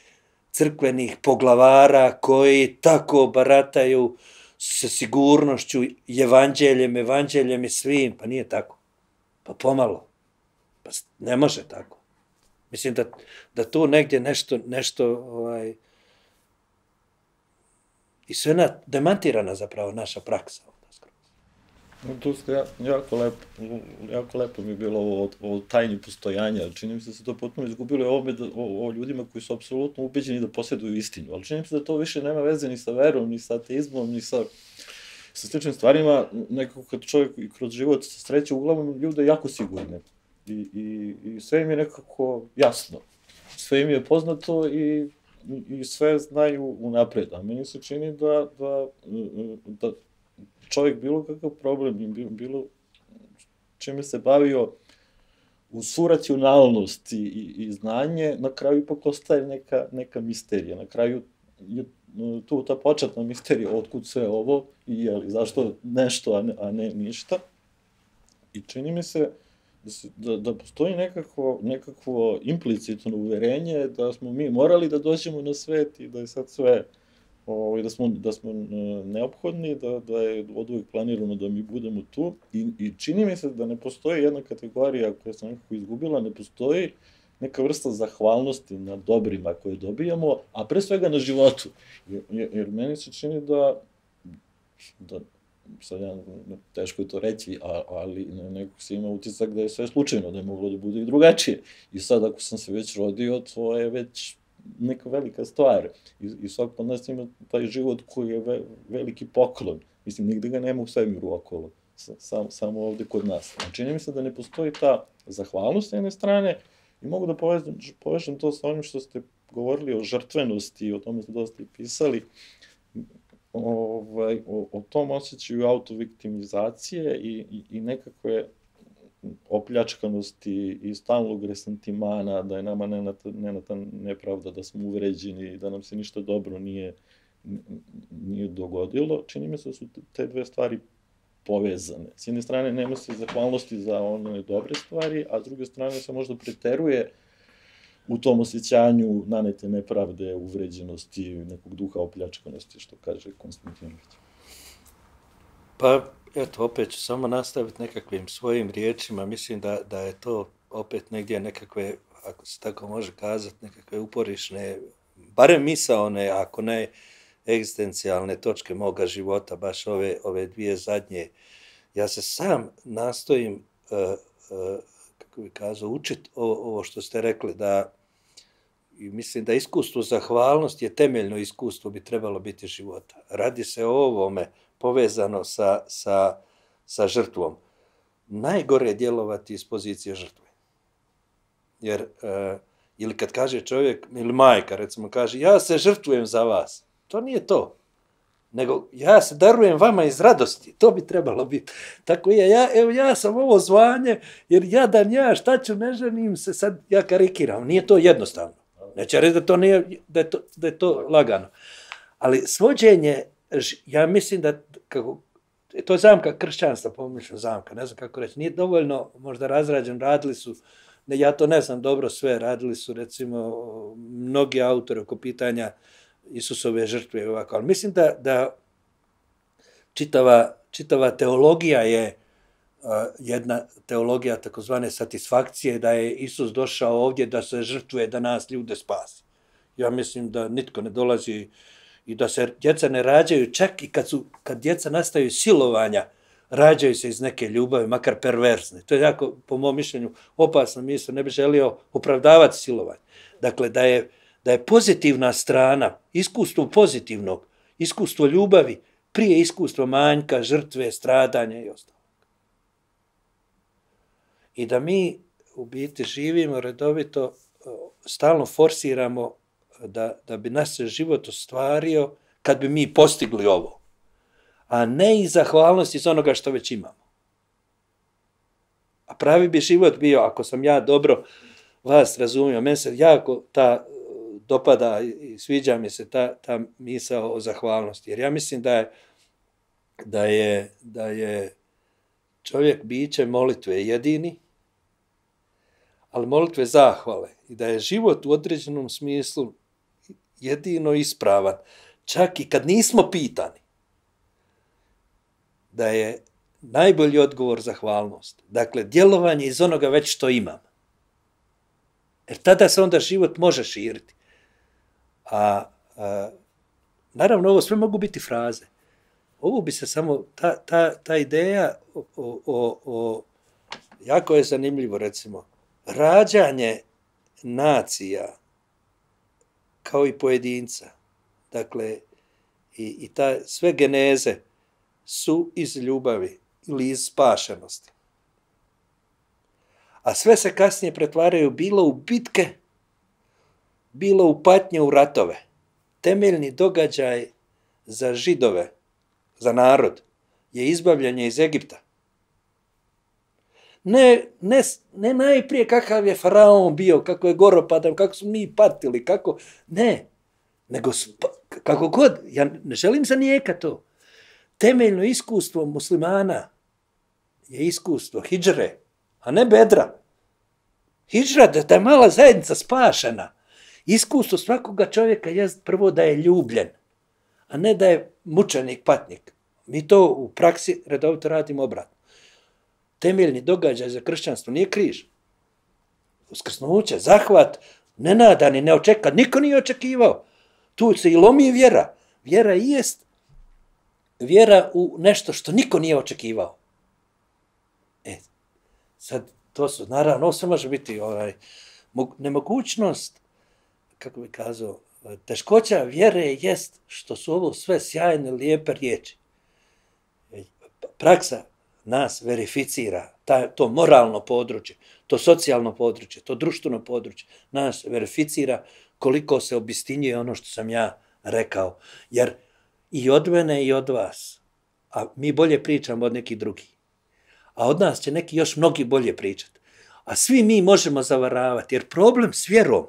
crkvenih poglavara koji tako barataju sa sigurnošću i evanđeljem, evanđeljem i svim. Pa nije tako. Pa pomalo. Pa ne može tako. Mislim da, da tu negdje nešto, nešto ovaj, i sve na, demantirana zapravo naša praksa. Tu ste jako lepo, jako lepo mi je bilo ovo o tajni postojanja. Čini mi se da se to potpuno izgubilo o, o, o ljudima koji su apsolutno ubeđeni da posjeduju istinu. Ali čini mi se da to više nema veze ni sa verom, ni sa ateizmom, ni sa, sa sličnim stvarima. Nekako kad čovjek kroz život sreće, uglavnom ljude jako sigurne. i, i, i sve im je nekako jasno. Sve im je poznato i, i, i sve znaju unapred. A meni se čini da, da, da čovjek bilo kakav problem, bilo čime se bavio u svu racionalnost i, i, i znanje, na kraju ipak ostaje neka, neka misterija. Na kraju je tu ta početna misterija, otkud sve ovo i jeli, zašto nešto, a ne, a ne ništa. I čini mi se da, se, da, da postoji nekako, nekakvo implicitno uverenje da smo mi morali da dođemo na svet i da je sad sve, ovaj, da smo, da smo neophodni, da, da je od uvek planirano da mi budemo tu. I, I čini mi se da ne postoji jedna kategorija koja se nekako izgubila, ne postoji neka vrsta zahvalnosti na dobrima koje dobijamo, a pre svega na životu. Jer, jer meni se čini da, da sad ja, teško je to reći, ali nekako se ima utisak da je sve slučajno, da je moglo da bude i drugačije. I sad ako sam se već rodio, to je već neka velika stvar. I, i svak od nas ima taj život koji je ve, veliki poklon. Mislim, nigde ga nema u svemiru okolo, sam, samo ovde kod nas. Čini mi se da ne postoji ta zahvalnost s jedne strane i mogu da povežem, povežem to sa onim što ste govorili o žrtvenosti i o tome ste dosta i pisali. Ovaj, o, o tom osjećaju autoviktimizacije i, i, i nekakve opljačkanosti i stalnog resentimana, da je nama nenata, nenata nepravda, da smo uvređeni, da nam se ništa dobro nije, nije dogodilo. Čini mi se da su te dve stvari povezane. S jedne strane nema se zahvalnosti za one dobre stvari, a s druge strane se možda preteruje u tom osjećanju nanete nepravde, uvređenosti, nekog duha opljačkanosti, što kaže Konstantinović. Pa, eto, opet ću samo nastaviti nekakvim svojim riječima. Mislim da, da je to opet negdje nekakve, ako se tako može kazati, nekakve uporišne, barem misaone, ako ne egzistencijalne točke moga života, baš ove, ove dvije zadnje. Ja se sam nastojim, uh, uh, kako bi kazao, učiti ovo što ste rekli, da i mislim da iskustvo zahvalnosti je temeljno iskustvo, bi trebalo biti života. Radi se o ovome povezano sa, sa, sa žrtvom. Najgore je djelovati iz pozicije žrtve. Jer, uh, ili kad kaže čovjek, ili majka, recimo, kaže, ja se žrtvujem za vas. To nije to. Nego, ja se darujem vama iz radosti. To bi trebalo biti. Tako je, ja, evo, ja sam ovo zvanje, jer jadan ja, šta ću, ne ženim se, sad ja karikiram. Nije to jednostavno. Neće reći da to nije, da je to, da je to lagano. Ali svođenje, ja mislim da, kako, to je zamka kršćanstva, pomišljam zamka, ne znam kako reći, nije dovoljno možda razrađen, radili su, ne, ja to ne znam dobro sve, radili su recimo mnogi autori oko pitanja Isusove žrtve, ovako, ali mislim da, da čitava, čitava teologija je uh, jedna teologija takozvane satisfakcije, da je Isus došao ovdje da se žrtvuje, da nas ljude spasi. Ja mislim da nitko ne dolazi i da se djeca ne rađaju, čak i kad, su, kad djeca nastaju silovanja, rađaju se iz neke ljubavi, makar perverzne. To je jako, po mom mišljenju, opasno misle, ne bi želio opravdavati silovanje. Dakle, da je da je pozitivna strana, iskustvo pozitivnog, iskustvo ljubavi, prije iskustva manjka, žrtve, stradanja i ostalo. I da mi u biti živimo redovito, stalno forsiramo da, da bi nas se život ostvario kad bi mi postigli ovo, a ne iz zahvalnosti iz onoga što već imamo. A pravi bi život bio, ako sam ja dobro vas razumio, meni se jako ta dopada i sviđa mi se ta, ta misao o zahvalnosti. Jer ja mislim da je, da je, da je čovjek biće molitve jedini, ali molitve zahvale. I da je život u određenom smislu jedino ispravan. Čak i kad nismo pitani. Da je najbolji odgovor zahvalnost. Dakle, djelovanje iz onoga već što imam. Jer tada se onda život može širiti. A, a naravno, ovo sve mogu biti fraze. Ovo bi se samo, ta, ta, ta ideja o, o, o, jako je zanimljivo, recimo, rađanje nacija kao i pojedinca, dakle, i, i ta, sve geneze su iz ljubavi ili iz spašenosti. A sve se kasnije pretvaraju bilo u bitke, bilo u patnje, u ratove. Temeljni događaj za Židove, za narod, je izbavljanje iz Egipta. Ne, ne, ne najprije kakav je faraon bio, kako je goropadan, kako smo mi patili, kako, ne, nego kako god, ja ne želim zanijekati to. Temeljno iskustvo muslimana je iskustvo hidžre, a ne bedra. Hidžra, da, da je mala zajednica spašena. Iskustvo svakoga čovjeka je prvo da je ljubljen, a ne da je mučenik, patnik. Mi to u praksi redovito radimo obratno. Temeljni događaj za kršćanstvo nije križ. Uskrsnuće, zahvat, nenadani, neočekan, niko nije očekivao. Tu se i lomi vjera. Vjera i jest vjera u nešto što niko nije očekivao. E, sad, to su, naravno, ovo sve može biti ovaj, nemogućnost, kako bi kazao, teškoća vjere jest što su ovo sve sjajne, lijepe riječi. Praksa nas verificira, ta, to moralno područje, to socijalno područje, to društveno područje, nas verificira koliko se obistinjuje ono što sam ja rekao. Jer i od mene i od vas, a mi bolje pričamo od nekih drugih, a od nas će neki još mnogi bolje pričati. A svi mi možemo zavaravati, jer problem s vjerom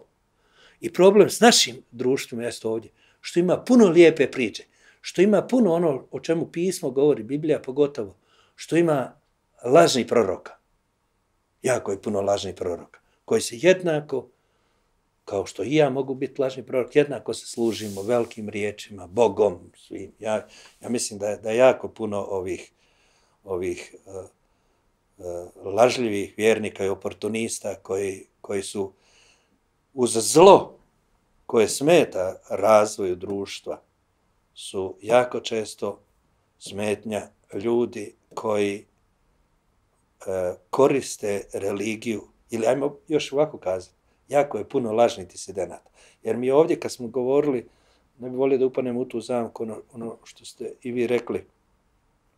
i problem s našim društvom jest ovdje, što ima puno lijepe priče, što ima puno ono o čemu pismo govori, Biblija pogotovo, što ima lažnih proroka. Jako je puno lažnih proroka, koji se jednako, kao što i ja mogu biti lažni prorok, jednako se služimo velikim riječima, Bogom, svim. Ja, ja mislim da je, da je jako puno ovih, ovih uh, uh, lažljivih vjernika i oportunista koji, koji su uz zlo koje smeta razvoju društva, su jako često smetnja ljudi koji e, koriste religiju, ili ajmo još ovako kazati, jako je puno lažnih disidenata. Jer mi ovdje kad smo govorili, ne bi volio da upanem u tu zamku, ono, ono što ste i vi rekli,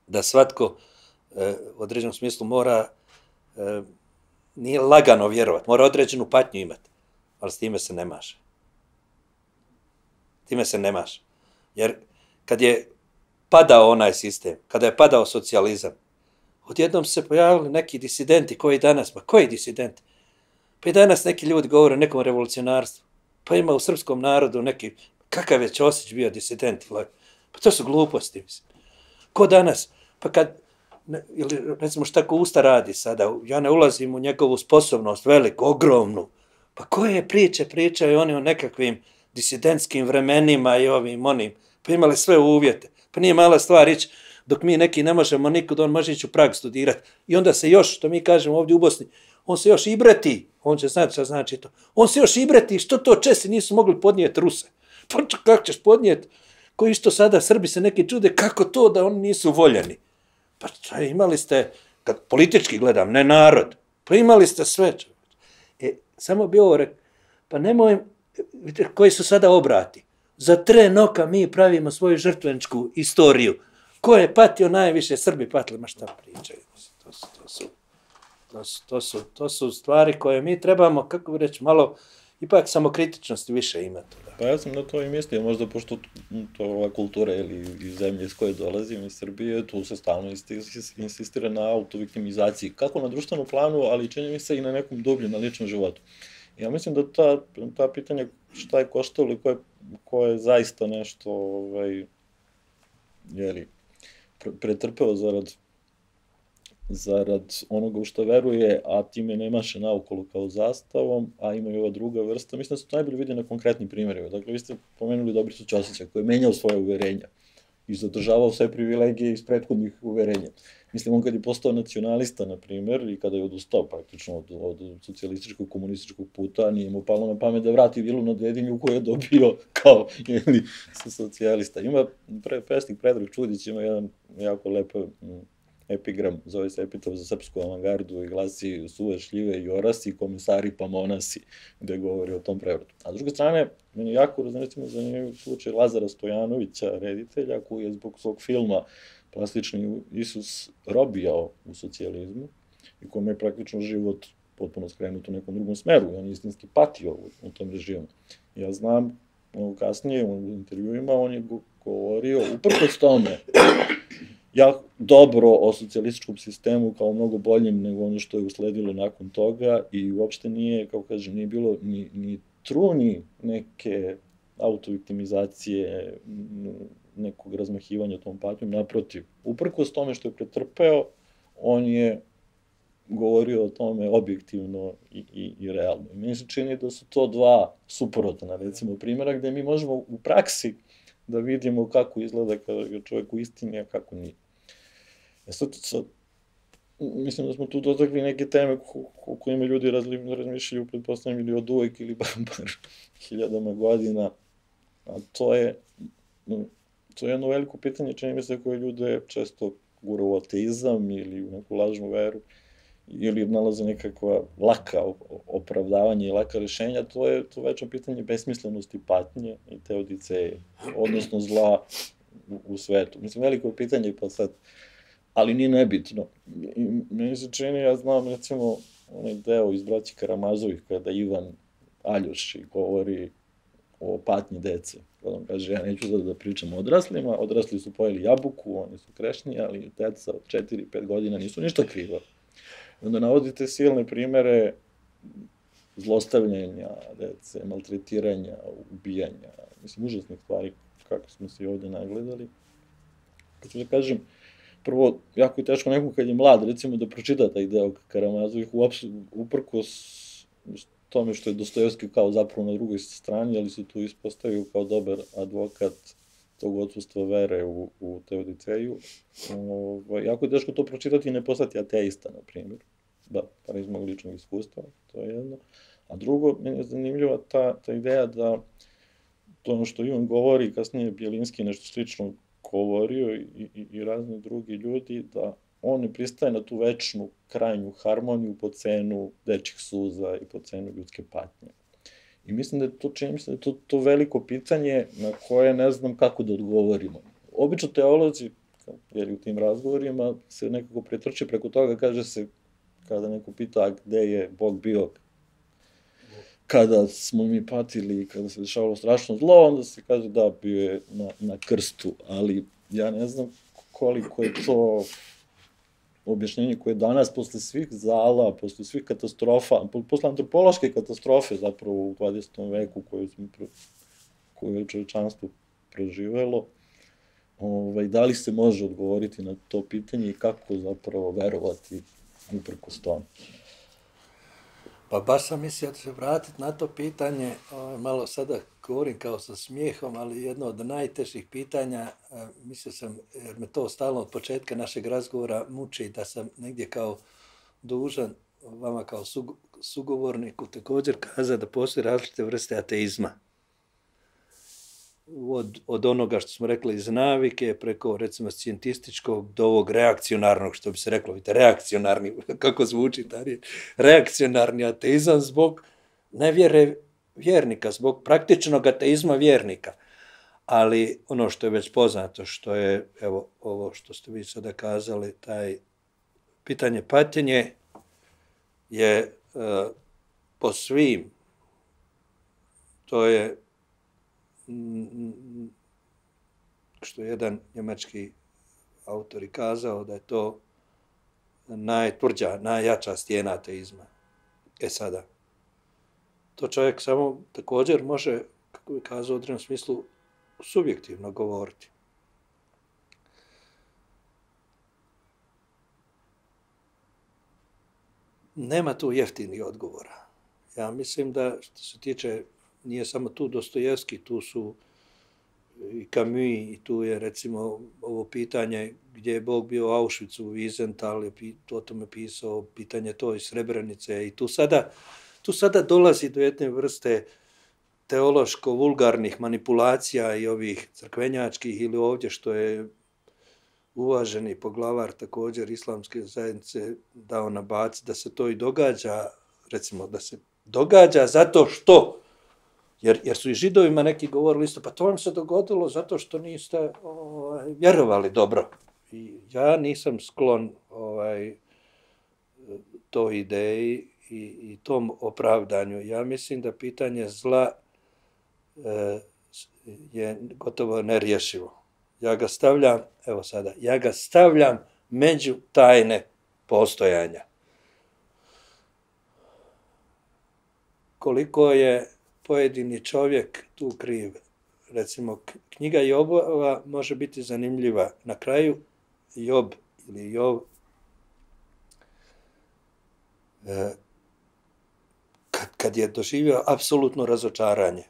da svatko e, u određenom smislu mora, e, nije lagano vjerovati, mora određenu patnju imati, ali s time se ne maše. Time se ne maše. Jer kad je padao onaj sistem, kada je padao socijalizam, odjednom se pojavili neki disidenti koji danas, pa koji disidenti? Pa i danas neki ljudi govore o nekom revolucionarstvu. Pa ima u srpskom narodu neki, kakav je Ćosić bio disident? Pa to su gluposti, mislim. Ko danas? Pa kad, ne, ili recimo šta ko Usta radi sada, ja ne ulazim u njegovu sposobnost, veliku, ogromnu. Pa koje priče pričaju oni o nekakvim disidentskim vremenima i ovim onim, pa imali sve uvjete. Pa nije mala stvar ići, dok mi neki ne možemo nikud, on može ići u Prag studirati. I onda se još, što mi kažemo ovdje u Bosni, on se još ibreti, on će znati šta znači to, on se još ibreti, što to Česi nisu mogli podnijeti Ruse. Pa kako ćeš podnijeti? Koji isto sada Srbi se neki čude, kako to da oni nisu voljeni? Pa šta, imali ste, kad politički gledam, ne narod, pa imali ste sve. E, samo bi ovo rekao, pa nemoj, vidite, koji su sada obrati. Za tren oka mi pravimo svoju žrtveničku istoriju. Ko je patio najviše? Srbi patili, ma šta pričaju. To su, to su, to su, to su, to su stvari koje mi trebamo, kako bi reći, malo ipak samokritičnosti više imati. Pa ja sam na to i mislio, možda pošto to ova kultura ili iz zemlje iz koje dolazim, iz Srbije, tu se stalno insistira na autoviktimizaciji, kako na društvenom planu, ali čini mi se i na nekom dubljem, na ličnom životu. Ja mislim da ta, ta pitanja šta je koštalo i ko je, ko je zaista nešto ovaj, jeli, pre, pretrpeo zarad, zarad onoga u što veruje, a time ne maše naokolo kao zastavom, a ima i ova druga vrsta. Mislim da se to najbolje vidi na konkretnim primjerima. Dakle, vi ste pomenuli Dobricu Ćosića koji je menjao svoje uverenja i zadržavao sve privilegije iz prethodnih uverenja. Mislim, on kad je postao nacionalista, na primjer, i kada je odustao praktično od, od socijalističkog, komunističkog puta, nije mu palo na pamet da vrati vilu na Dedinju koju je dobio kao ili socijalista. Ima, pre, pesnik Predrag Čudić ima jedan jako lep epigram, zove se Epitaf za srpsku avangardu i glasi suve šljive i orasi, komesari pa monasi, gde govori o tom prevratu. A s druge strane, meni je jako recimo zanimljiv slučaj Lazara Stojanovića, reditelja, koji je zbog svog filma Plastični Isus robijao u socijalizmu i kome je praktično život potpuno skrenut u nekom drugom smeru i on je istinski patio u, u tom režimu. Ja znam, ono, kasnije u intervjuima on je govorio uprkos tome ja dobro o socijalističkom sistemu kao mnogo boljim nego ono što je usledilo nakon toga i uopšte nije, kao kažem, nije bilo ni, ni truni neke autoviktimizacije, nekog razmahivanja tom patnjom, naprotiv. Uprkos tome što je pretrpeo, on je govorio o tome objektivno i, i, i realno. I meni se čini da su to dva suprotna, recimo, primjera gde mi možemo u praksi da vidimo kako izgleda kada je čovjek u istini, a kako nije. E sad, sad, mislim da smo tu dotakli neke teme o kojima ljudi razmišljaju, pretpostavljam, ili od uvek ili bar, bar hiljadama godina, a to je, to je jedno veliko pitanje, čini mi se, koje ljude često gura u ateizam ili u neku lažnu veru, ili nalaze nekakva laka opravdavanja i laka rešenja, to je to večno pitanje besmislenosti patnje i teodiceje, odnosno zla u, u svetu. Mislim, veliko je pitanje, pa sad, ali nije nebitno. I meni se čini, ja znam, recimo, onaj deo iz Braći Karamazovih, kada Ivan Aljoši govori o patnji dece. Kada on kaže, ja neću da, da pričam o odraslima, odrasli su pojeli jabuku, oni su krešni, ali deca od četiri pet godina nisu ništa kriva. I onda navodite silne primere zlostavljanja dece, maltretiranja, ubijanja, mislim, užasnih stvari, kako smo se i ovde nagledali. Kako da kažem, prvo, jako je teško nekom kad je mlad, recimo, da pročita taj deo Karamazovih, uprkos tome što je Dostojevski kao zapravo na drugoj strani, ali se tu ispostavio kao dobar advokat tog odsustva vere u, u teodiceju. Ovo, jako je teško to pročitati i ne postati ateista, na primjer. Da, par iz mog ličnog iskustva, to je jedno. A drugo, meni je zanimljiva ta, ta ideja da to ono što Ivan govori, kasnije Bjelinski nešto slično govorio i, i, i razni drugi ljudi, da on ne pristaje na tu večnu krajnju harmoniju po cenu dečjih suza i po cenu ljudske patnje. I mislim da je to, čini mislim da je to, to veliko pitanje na koje ne znam kako da odgovorimo. Obično teolozi, jer u tim razgovorima, se nekako pretrče preko toga, kaže se, kada neko pita gde je Bog bio kada smo mi patili i kada se dešavalo strašno zlo, onda se kaže da, bio je na, na krstu, ali ja ne znam koliko je to objašnjenje koje danas, posle svih zala, posle svih katastrofa, posle antropološke katastrofe zapravo u dvadesetom veku koju, smo, koju je čovečanstvo proživelo, ovaj, da li se može odgovoriti na to pitanje i kako zapravo verovati uprkos tome? Pa baš sam mislio da se vratiti na to pitanje, malo sada govorim kao sa smijehom, ali jedno od najtežih pitanja, mislio sam, jer me to stalno od početka našeg razgovora muči, da sam negdje kao dužan vama kao sugovorniku također kazati da postoje različite vrste ateizma. Od, od onoga što smo rekli iz navike, preko recimo scijentističkog do ovog reakcionarnog, što bi se reklo, vidite, reakcionarni, kako zvuči ta riječ, reakcionarni ateizam zbog nevjere vjernika, zbog praktičnog ateizma vjernika. Ali ono što je već poznato, što je, evo, ovo što ste vi sada kazali, taj pitanje patnje je uh, po svim, to je što je jedan njemački autor i kazao, da je to najtvrđa, najjača stijena ateizma. E sada, to čovjek samo također može, kako bi kazao u određenom smislu, subjektivno govoriti. Nema tu jeftinih odgovora. Ja mislim da, što se tiče, nije samo tu Dostojevski, tu su i Camus, i tu je recimo ovo pitanje gdje je Bog bio u Auschwitzu, Wiesenthal je o tome pisao, pitanje to iz Srebrenice, i tu sada, tu sada dolazi do jedne vrste teološko-vulgarnih manipulacija i ovih crkvenjačkih, ili ovdje što je uvaženi poglavar također islamske zajednice dao na bac, da se to i događa, recimo da se događa zato što, jer, jer su i Židovima neki govorili isto, pa to vam se dogodilo zato što niste ovaj, vjerovali dobro. I ja nisam sklon ovaj, toj ideji, i, i tom opravdanju. Ja mislim da pitanje zla e, je gotovo nerješivo. Ja ga stavljam, evo sada, ja ga stavljam među tajne postojanja. Koliko je pojedini čovjek tu kriv. Recimo, knjiga Jobova može biti zanimljiva. Na kraju Job ili Jov kad, kad je doživio apsolutno razočaranje,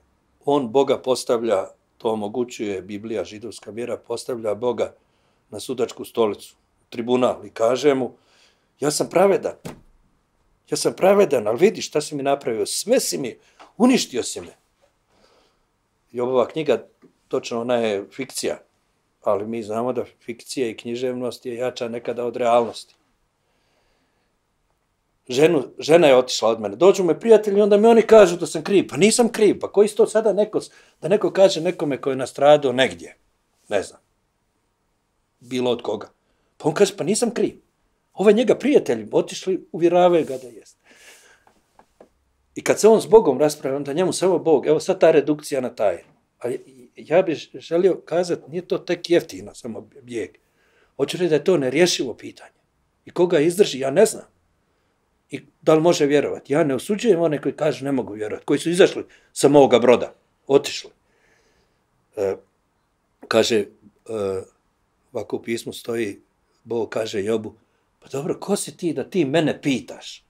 on Boga postavlja, to omogućuje Biblija, židovska vjera, postavlja Boga na sudačku stolicu, tribunal i kaže mu, ja sam pravedan, ja sam pravedan, ali vidi šta si mi napravio, sve si mi, uništio si me. Jobova knjiga, točno ona je fikcija, ali mi znamo da fikcija i književnost je jača nekada od realnosti. Ženu, žena je otišla od mene. Dođu me prijatelji, onda mi oni kažu da sam kriv. Pa nisam kriv. Pa koji to sada neko, da neko kaže nekome koji je nastradao negdje? Ne znam. Bilo od koga. Pa on kaže, pa nisam kriv. Ovo je njega prijatelji otišli, uvjeravaju ga da jest. I kad se on s Bogom raspravlja, onda njemu samo Bog, evo sad ta redukcija na tajnu. A ja bih želio kazati, nije to tek jeftino, samo bijeg. Hoću reći da je to nerješivo pitanje. I koga izdrži, ja ne znam. I da li može vjerovati? Ja ne osuđujem one koji kažu ne mogu vjerovati, koji su izašli sa moga broda, otišli. E, kaže, e, ovako u pismu stoji, Bog kaže Jobu, pa dobro, ko si ti da ti mene pitaš?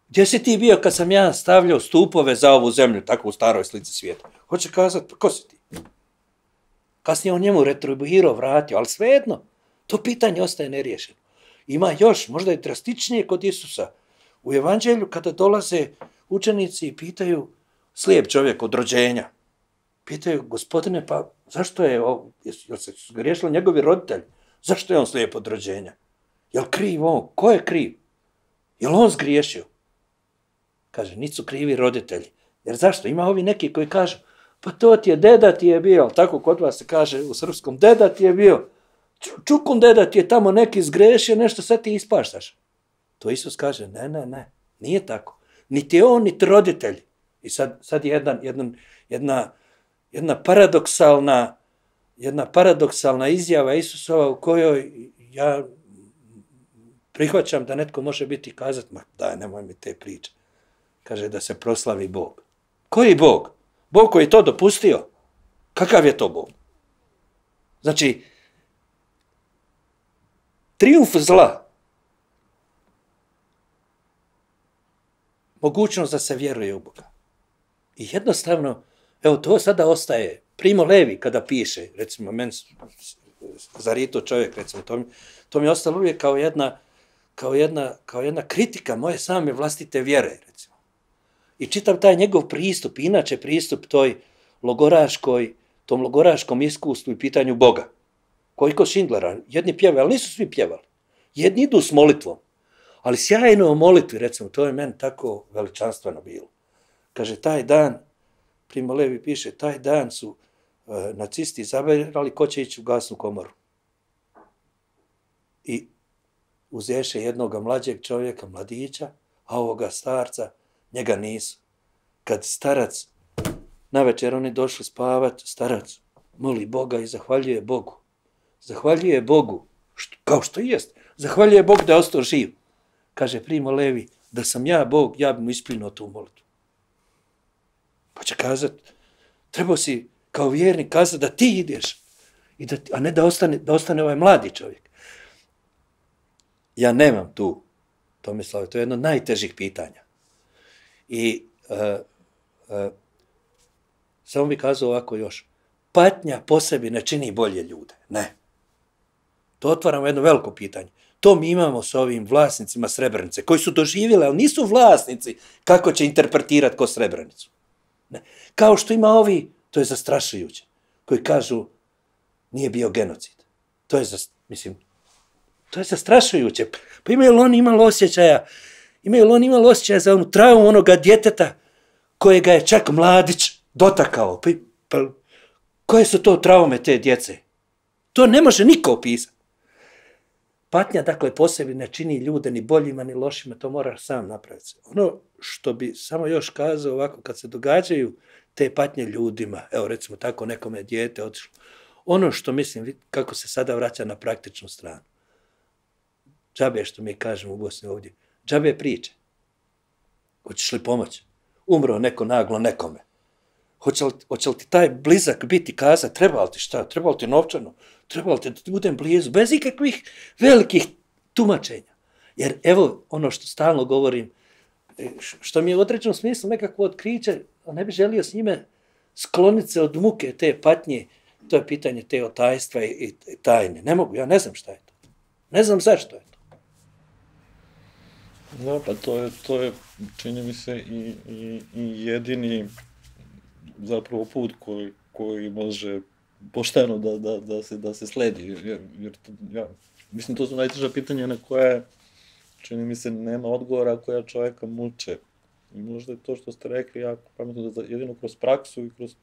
Gdje si ti bio kad sam ja stavljao stupove za ovu zemlju, tako u staroj slici svijeta? Hoće kazati, pa ko si ti? Kasnije on njemu retribuirao, vratio, ali svejedno, to pitanje ostaje neriješeno. Ima još, možda je drastičnije kod Isusa. U evanđelju kada dolaze učenici i pitaju, slijep čovjek od rođenja, pitaju, gospodine, pa zašto je, jel se griješili njegovi roditelji? Zašto je on slijep od rođenja? Jel kriv on? Ko je kriv? Jel on zgriješio? Kaže, nisu krivi roditelji. Jer zašto? Ima ovi neki koji kažu, pa to ti je, deda ti je bio, tako kod vas se kaže u srpskom, deda ti je bio, čukun deda ti je tamo neki zgrešio, nešto sad ti ispaštaš. To Isus kaže, ne, ne, ne, nije tako. Niti on, niti roditelji. I sad, sad je jedan, jedan, jedna, jedna paradoksalna, jedna paradoksalna izjava Isusova u kojoj ja prihvaćam da netko može biti i kazati, ma daj, nemoj mi te priče. Kaže da se proslavi Bog. Koji Bog? Bog koji je to dopustio? Kakav je to Bog? Znači, trijumf zla, mogućnost da se vjeruje u Boga. I jednostavno, evo to sada ostaje. Primo Levi kada piše, recimo, meni zarito čovjek, recimo, to mi, to mi je ostalo uvijek kao jedna, kao, jedna, kao jedna kritika moje same vlastite vjere, recimo. I čitam taj njegov pristup, inače pristup toj logoraškoj, tom logoraškom iskustvu i pitanju Boga. Koji kod Schindlera, jedni pjevaju, ali nisu svi pjevali. Jedni idu s molitvom, ali sjajno o molitvi, recimo, to je meni tako veličanstveno bilo. Kaže, taj dan, Primo Levi piše, taj dan su e, nacisti izabrali ko će ići u gasnu komoru. I uzješe jednoga mlađeg čovjeka, mladića, a ovoga starca, njega nisu. Kad starac, navečer oni došli spavat, starac moli Boga i zahvaljuje Bogu. Zahvaljuje Bogu, što, kao što jest. Zahvaljuje Bog da je ostao živ. Kaže Primo Levi, da sam ja Bog, ja bi mu isplinuo tu molitvu. Pa će kazati, trebao si kao vjernik kazati da ti ideš, i da, a ne da ostane, da ostane ovaj mladi čovjek. Ja nemam tu, Tomislave, to je jedno od najtežih pitanja. I uh, uh, samo bih kazao ovako još, patnja po sebi ne čini bolje ljude, ne. To otvaramo jedno veliko pitanje. To mi imamo s ovim vlasnicima Srebrenice, koji su doživjeli, ali nisu vlasnici kako će interpretirati ko Srebrenicu. Ne. Kao što ima ovi, to je zastrašujuće, koji kažu nije bio genocid. To je, za, mislim, to je zastrašujuće. Pa imaju li oni imali osjećaja, imaju li oni imali osjećaja za onu traumu onoga djeteta kojega je čak mladić dotakao. Pa, pa, koje su to traume te djece? To ne može niko opisati. patnja, dakle, po sebi ne čini ljude ni boljima, ni lošima, to moraš sam napraviti. Ono što bi samo još kazao ovako, kad se događaju te patnje ljudima, evo recimo tako nekome dijete otišlo, ono što mislim, kako se sada vraća na praktičnu stranu, džabe što mi kažemo u Bosni ovdje, džabe priče. Hoćeš li pomoći? Umro neko naglo nekome. Hoće li, hoće li ti taj blizak biti kazati, treba li ti šta, treba li ti novčano, treba li ti da ti budem blizu, bez ikakvih velikih tumačenja. Jer evo ono što stalno govorim, što mi je u određenom smislu nekako otkriće, ne bi želio s njime skloniti se od muke te patnje, to je pitanje te otajstva i, i, i tajne. Ne mogu, ja ne znam šta je to. Ne znam zašto je to. Da, pa to je, to je čini mi se, i, i, i jedini zapravo put koji, koji može pošteno da, da, da, se, da se sledi. Jer, jer ja, mislim, to su najteža pitanja na koje, čini mi se, nema odgovora koja čovjeka muče. I možda je to što ste rekli jako pametno, da jedino kroz praksu i kroz,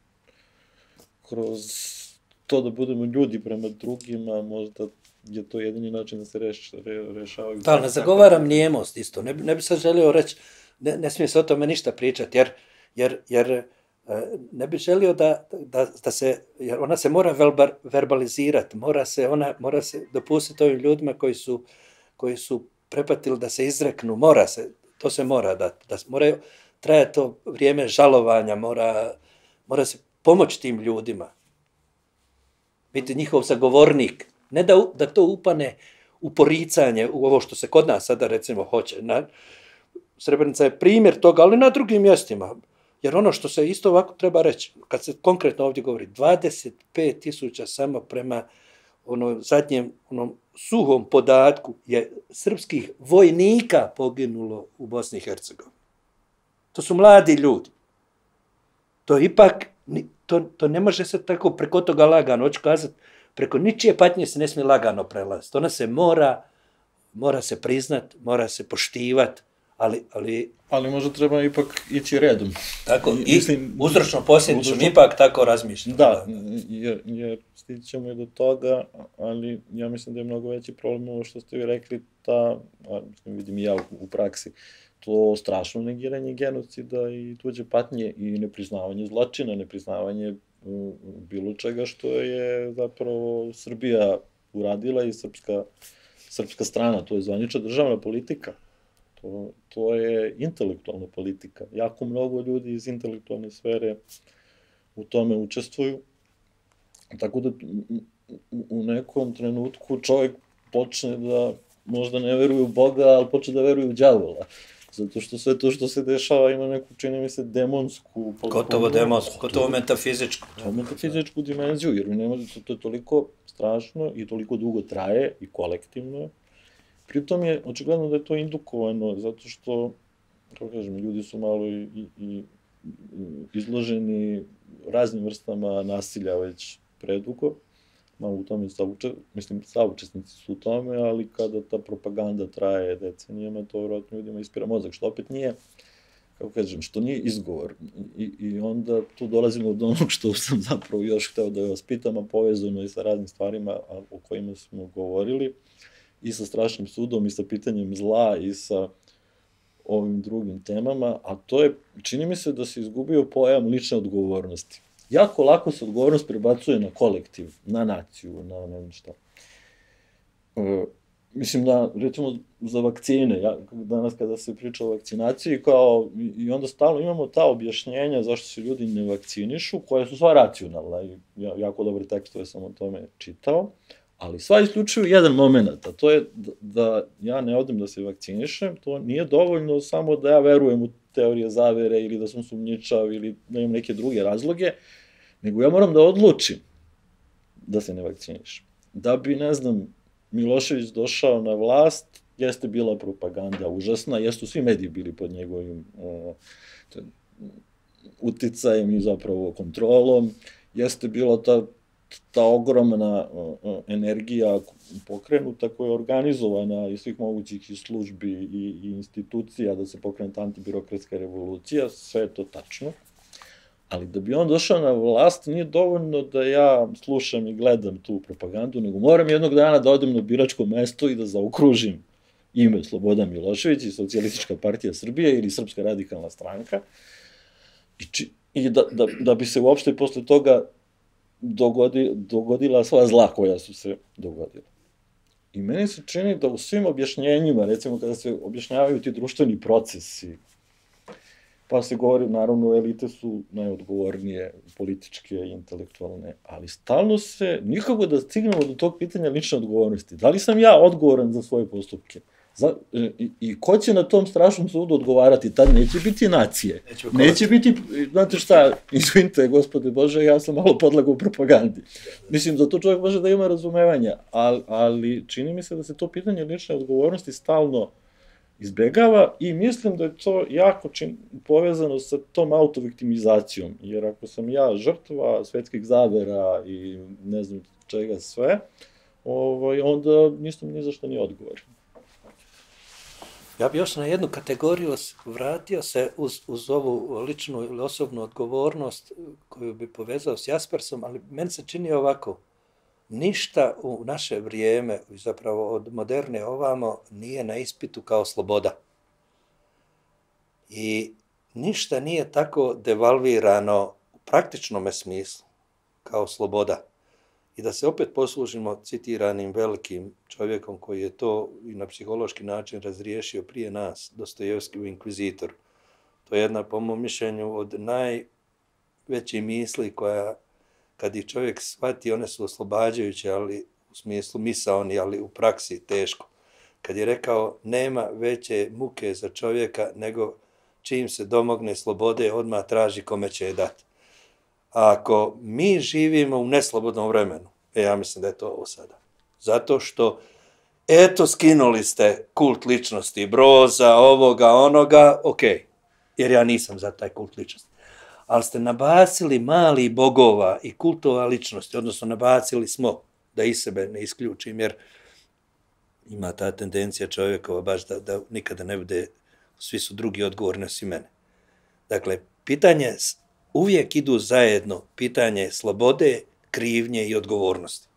kroz to da budemo ljudi prema drugima, možda je to jedini način da se reš, re, rešavaju. Da, ne zagovaram nijemost isto. Ne, ne bi sad želio reći, ne, ne smije se o tome ništa pričati, jer, jer, jer ne bi želio da, da, da se, jer ona se mora velbar, verbalizirati, mora se, ona, mora se dopustiti ovim ljudima koji su, koji su prepatili da se izreknu, mora se, to se mora da, da mora traje to vrijeme žalovanja, mora, mora se pomoći tim ljudima, biti njihov zagovornik, ne da, da to upane u poricanje, u ovo što se kod nas sada recimo hoće. Na, Srebrenica je primjer toga, ali na drugim mjestima. Jer ono što se isto ovako treba reći, kad se konkretno ovdje govori, dvadeset pet tisuća samo prema ono zadnjem onom suhom podatku je srpskih vojnika poginulo u Bosni i Hercegovini. To su mladi ljudi. To ipak, to, to ne može se tako preko toga lagano, hoću kazati, preko ničije patnje se ne smije lagano prelaziti. Ona se mora, mora se priznat, mora se poštivat, ali, ali... Ali možda treba ipak ići redom. Tako, i mislim, uzročno posljedično, uzročno... ipak tako razmišljam. Da, jer, jer stići ćemo i do toga, ali ja mislim da je mnogo veći problem ovo što ste vi rekli, ta, a, mislim, vidim i ja u, u praksi, to strašno negiranje genocida i tuđe patnje i nepriznavanje zločina, nepriznavanje bilo čega što je zapravo Srbija uradila i srpska, srpska strana, to je zvanična državna politika. To, to je intelektualna politika. Jako mnogo ljudi iz intelektualne sfere u tome učestvuju. Tako da u nekom trenutku čovjek počne da možda ne veruje u Boga, ali počne da veruje u đavola. Zato što sve to što se dešava ima neku, čini mi se, demonsku... Gotovo demonsku, gotovo metafizičku. To metafizičku dimenziju, jer mi ne može, to je toliko strašno i toliko dugo traje i kolektivno. Pritom je, očigledno da je to indukovano, zato što, kako kažem, ljudi su malo i, i, i izloženi raznim vrstama nasilja već predugo. Malo u tome sauče, mislim, saučesnici su u tome, ali kada ta propaganda traje decenijama, to vjerojatno ljudima ispira mozak, što opet nije, kako kažem, što nije izgovor. I, i onda tu dolazimo do onog što sam zapravo još hteo da vas pitam, a povezano i sa raznim stvarima o kojima smo govorili, i sa strašnim sudom, i sa pitanjem zla, i sa ovim drugim temama, a to je, čini mi se da se izgubio pojam lične odgovornosti. Jako lako se odgovornost prebacuje na kolektiv, na naciju, na ne znam šta. E, mislim da, recimo, za vakcine, ja, danas kada se priča o vakcinaciji, kao, i onda stalno imamo ta objašnjenja zašto se ljudi ne vakcinišu, koja su sva racionalna, i ja, jako dobre tekstove sam o tome čitao, ali sva isključuju jedan moment, a to je da, da ja ne odem da se vakcinišem, to nije dovoljno samo da ja verujem u teorije zavere ili da sam sumnjičav ili da imam neke druge razloge, nego ja moram da odlučim da se ne vakcinišem. Da bi, ne znam, Milošević došao na vlast, jeste bila propaganda užasna, jesu svi mediji bili pod njegovim uh, uticajem i zapravo kontrolom, jeste bila ta ta ogromna uh, energija pokrenuta koja je organizovana iz svih mogućih i službi i, i institucija da se pokrene ta antibirokratska revolucija, sve je to tačno. Ali da bi on došao na vlast, nije dovoljno da ja slušam i gledam tu propagandu, nego moram jednog dana da odem na biračko mesto i da zaokružim ime Slobodan Milošević i Socijalistička partija Srbije ili Srpska radikalna stranka i, či, i da, da, da bi se uopšte posle toga dogodi, dogodila sva zla koja su se dogodila. I meni se čini da u svim objašnjenjima, recimo kada se objašnjavaju ti društveni procesi, pa se govori, naravno, elite su najodgovornije, političke, intelektualne, ali stalno se, nikako da stignemo do tog pitanja lične odgovornosti. Da li sam ja odgovoran za svoje postupke? Za, i, I ko će na tom strašnom sudu odgovarati? Tad neće biti nacije. Neće, neće biti, znate šta, izvinite, gospode Bože, ja sam malo podlagao u propagandi. Mislim, za to čovjek može da ima razumevanja, ali, ali čini mi se da se to pitanje lične odgovornosti stalno izbegava i mislim da je to jako čin, povezano sa tom autoviktimizacijom, jer ako sam ja žrtva svetskih zavera i ne znam čega sve, ovaj, onda nisam ni za što ni odgovoran. Ja bi još na jednu kategoriju vratio se uz, uz ovu ličnu ili osobnu odgovornost koju bi povezao s Jaspersom, ali meni se čini ovako, ništa u naše vrijeme, zapravo od moderne ovamo, nije na ispitu kao sloboda. I ništa nije tako devalvirano u praktičnom smislu kao sloboda. I da se opet poslužimo citiranim velikim čovjekom koji je to i na psihološki način razriješio prije nas, Dostojevski u Inkvizitoru. To je jedna, po mom mišljenju, od najvećih misli koja, kad ih čovjek shvati, one su oslobađajuće, ali u smislu misaoni, ali u praksi teško. Kad je rekao, nema veće muke za čovjeka nego čim se domogne slobode, odmah traži kome će je dati. A ako mi živimo u neslobodnom vremenu, e, ja mislim da je to ovo sada. Zato što, eto, skinuli ste kult ličnosti, Broza, ovoga, onoga, ok, jer ja nisam za taj kult ličnosti. Ali ste nabacili mali bogova i kultova ličnosti, odnosno nabacili smo, da i sebe ne isključim, jer ima ta tendencija čovjekova baš da, da nikada ne bude, svi su drugi odgovorni osim mene. Dakle, pitanje uvijek idu zajedno, pitanje slobode, krivnje i odgovornosti.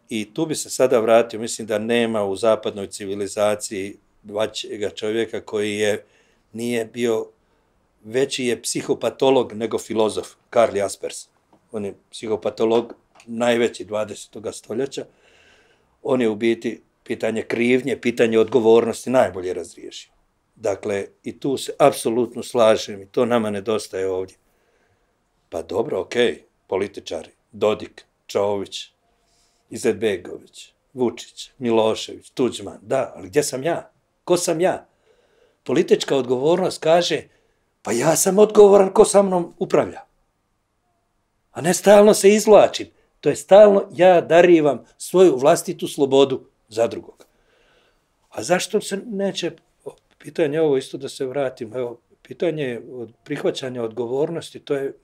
I tu bi se sada vratio, mislim da nema u zapadnoj civilizaciji vaćega čovjeka koji je, nije bio, veći je psihopatolog nego filozof, Karl Jaspers. On je psihopatolog najveći dvadesetog stoljeća. On je u biti pitanje krivnje, pitanje odgovornosti najbolje razriješio. Dakle, i tu se apsolutno slažem i to nama nedostaje ovdje. Pa dobro, okej, okay, političari, Dodik, Čović, Izetbegović, Vučić, Milošević, Tuđman, da, ali gdje sam ja? Ko sam ja? Politička odgovornost kaže, pa ja sam odgovoran ko sa mnom upravlja. A ne stalno se izvlačim. To je stalno ja darivam svoju vlastitu slobodu za drugog. A zašto se neće, pitanje ovo isto da se vratim, evo, pitanje od prihvaćanja odgovornosti, to je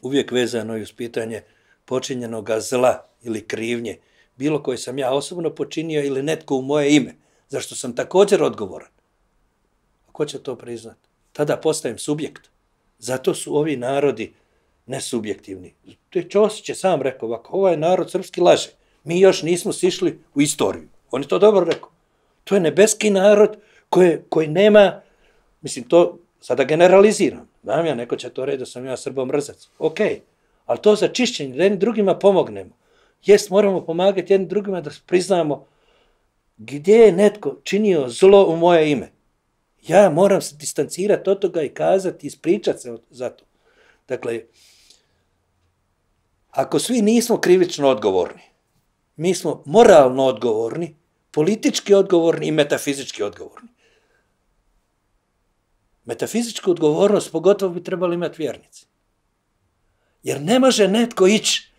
uvijek vezano i uz pitanje počinjenog zla ili krivnje, bilo koje sam ja osobno počinio ili netko u moje ime, zašto sam također odgovoran. A ko će to priznati? Tada postajem subjekt. Zato su ovi narodi nesubjektivni. Ćosić je sam rekao ovako, ovaj narod srpski laže. Mi još nismo sišli u istoriju. On je to dobro rekao. To je nebeski narod koji, koji nema, mislim to, sada generaliziram. Znam ja, neko će to reći da sam ja srbomrzac. Ok, ali to za čišćenje, da jednim drugima pomognemo. Jest, moramo pomagati jednim drugima da priznamo gdje je netko činio zlo u moje ime. Ja moram se distancirati od toga i kazati, ispričati se za to. Dakle, ako svi nismo krivično odgovorni, mi smo moralno odgovorni, politički odgovorni i metafizički odgovorni. Metafizičku odgovornost pogotovo bi trebali imati vjernici. Jer ne može netko ići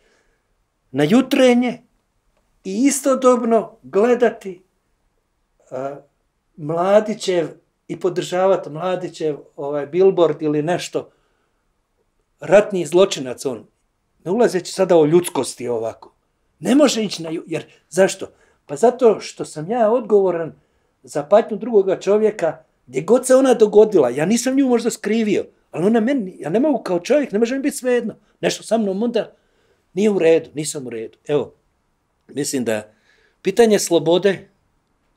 na jutrenje i istodobno gledati a, Mladićev i podržavati Mladićev ovaj billboard ili nešto, ratni zločinac on, ne ulazeći sada o ljudskosti ovako. Ne može ići na, jer zašto? Pa zato što sam ja odgovoran za patnju drugoga čovjeka, gdje god se ona dogodila, ja nisam nju možda skrivio, Ali ona meni, ja ne mogu kao čovjek, ne može mi biti svejedno. Nešto sa mnom onda nije u redu, nisam u redu. Evo, mislim da pitanje slobode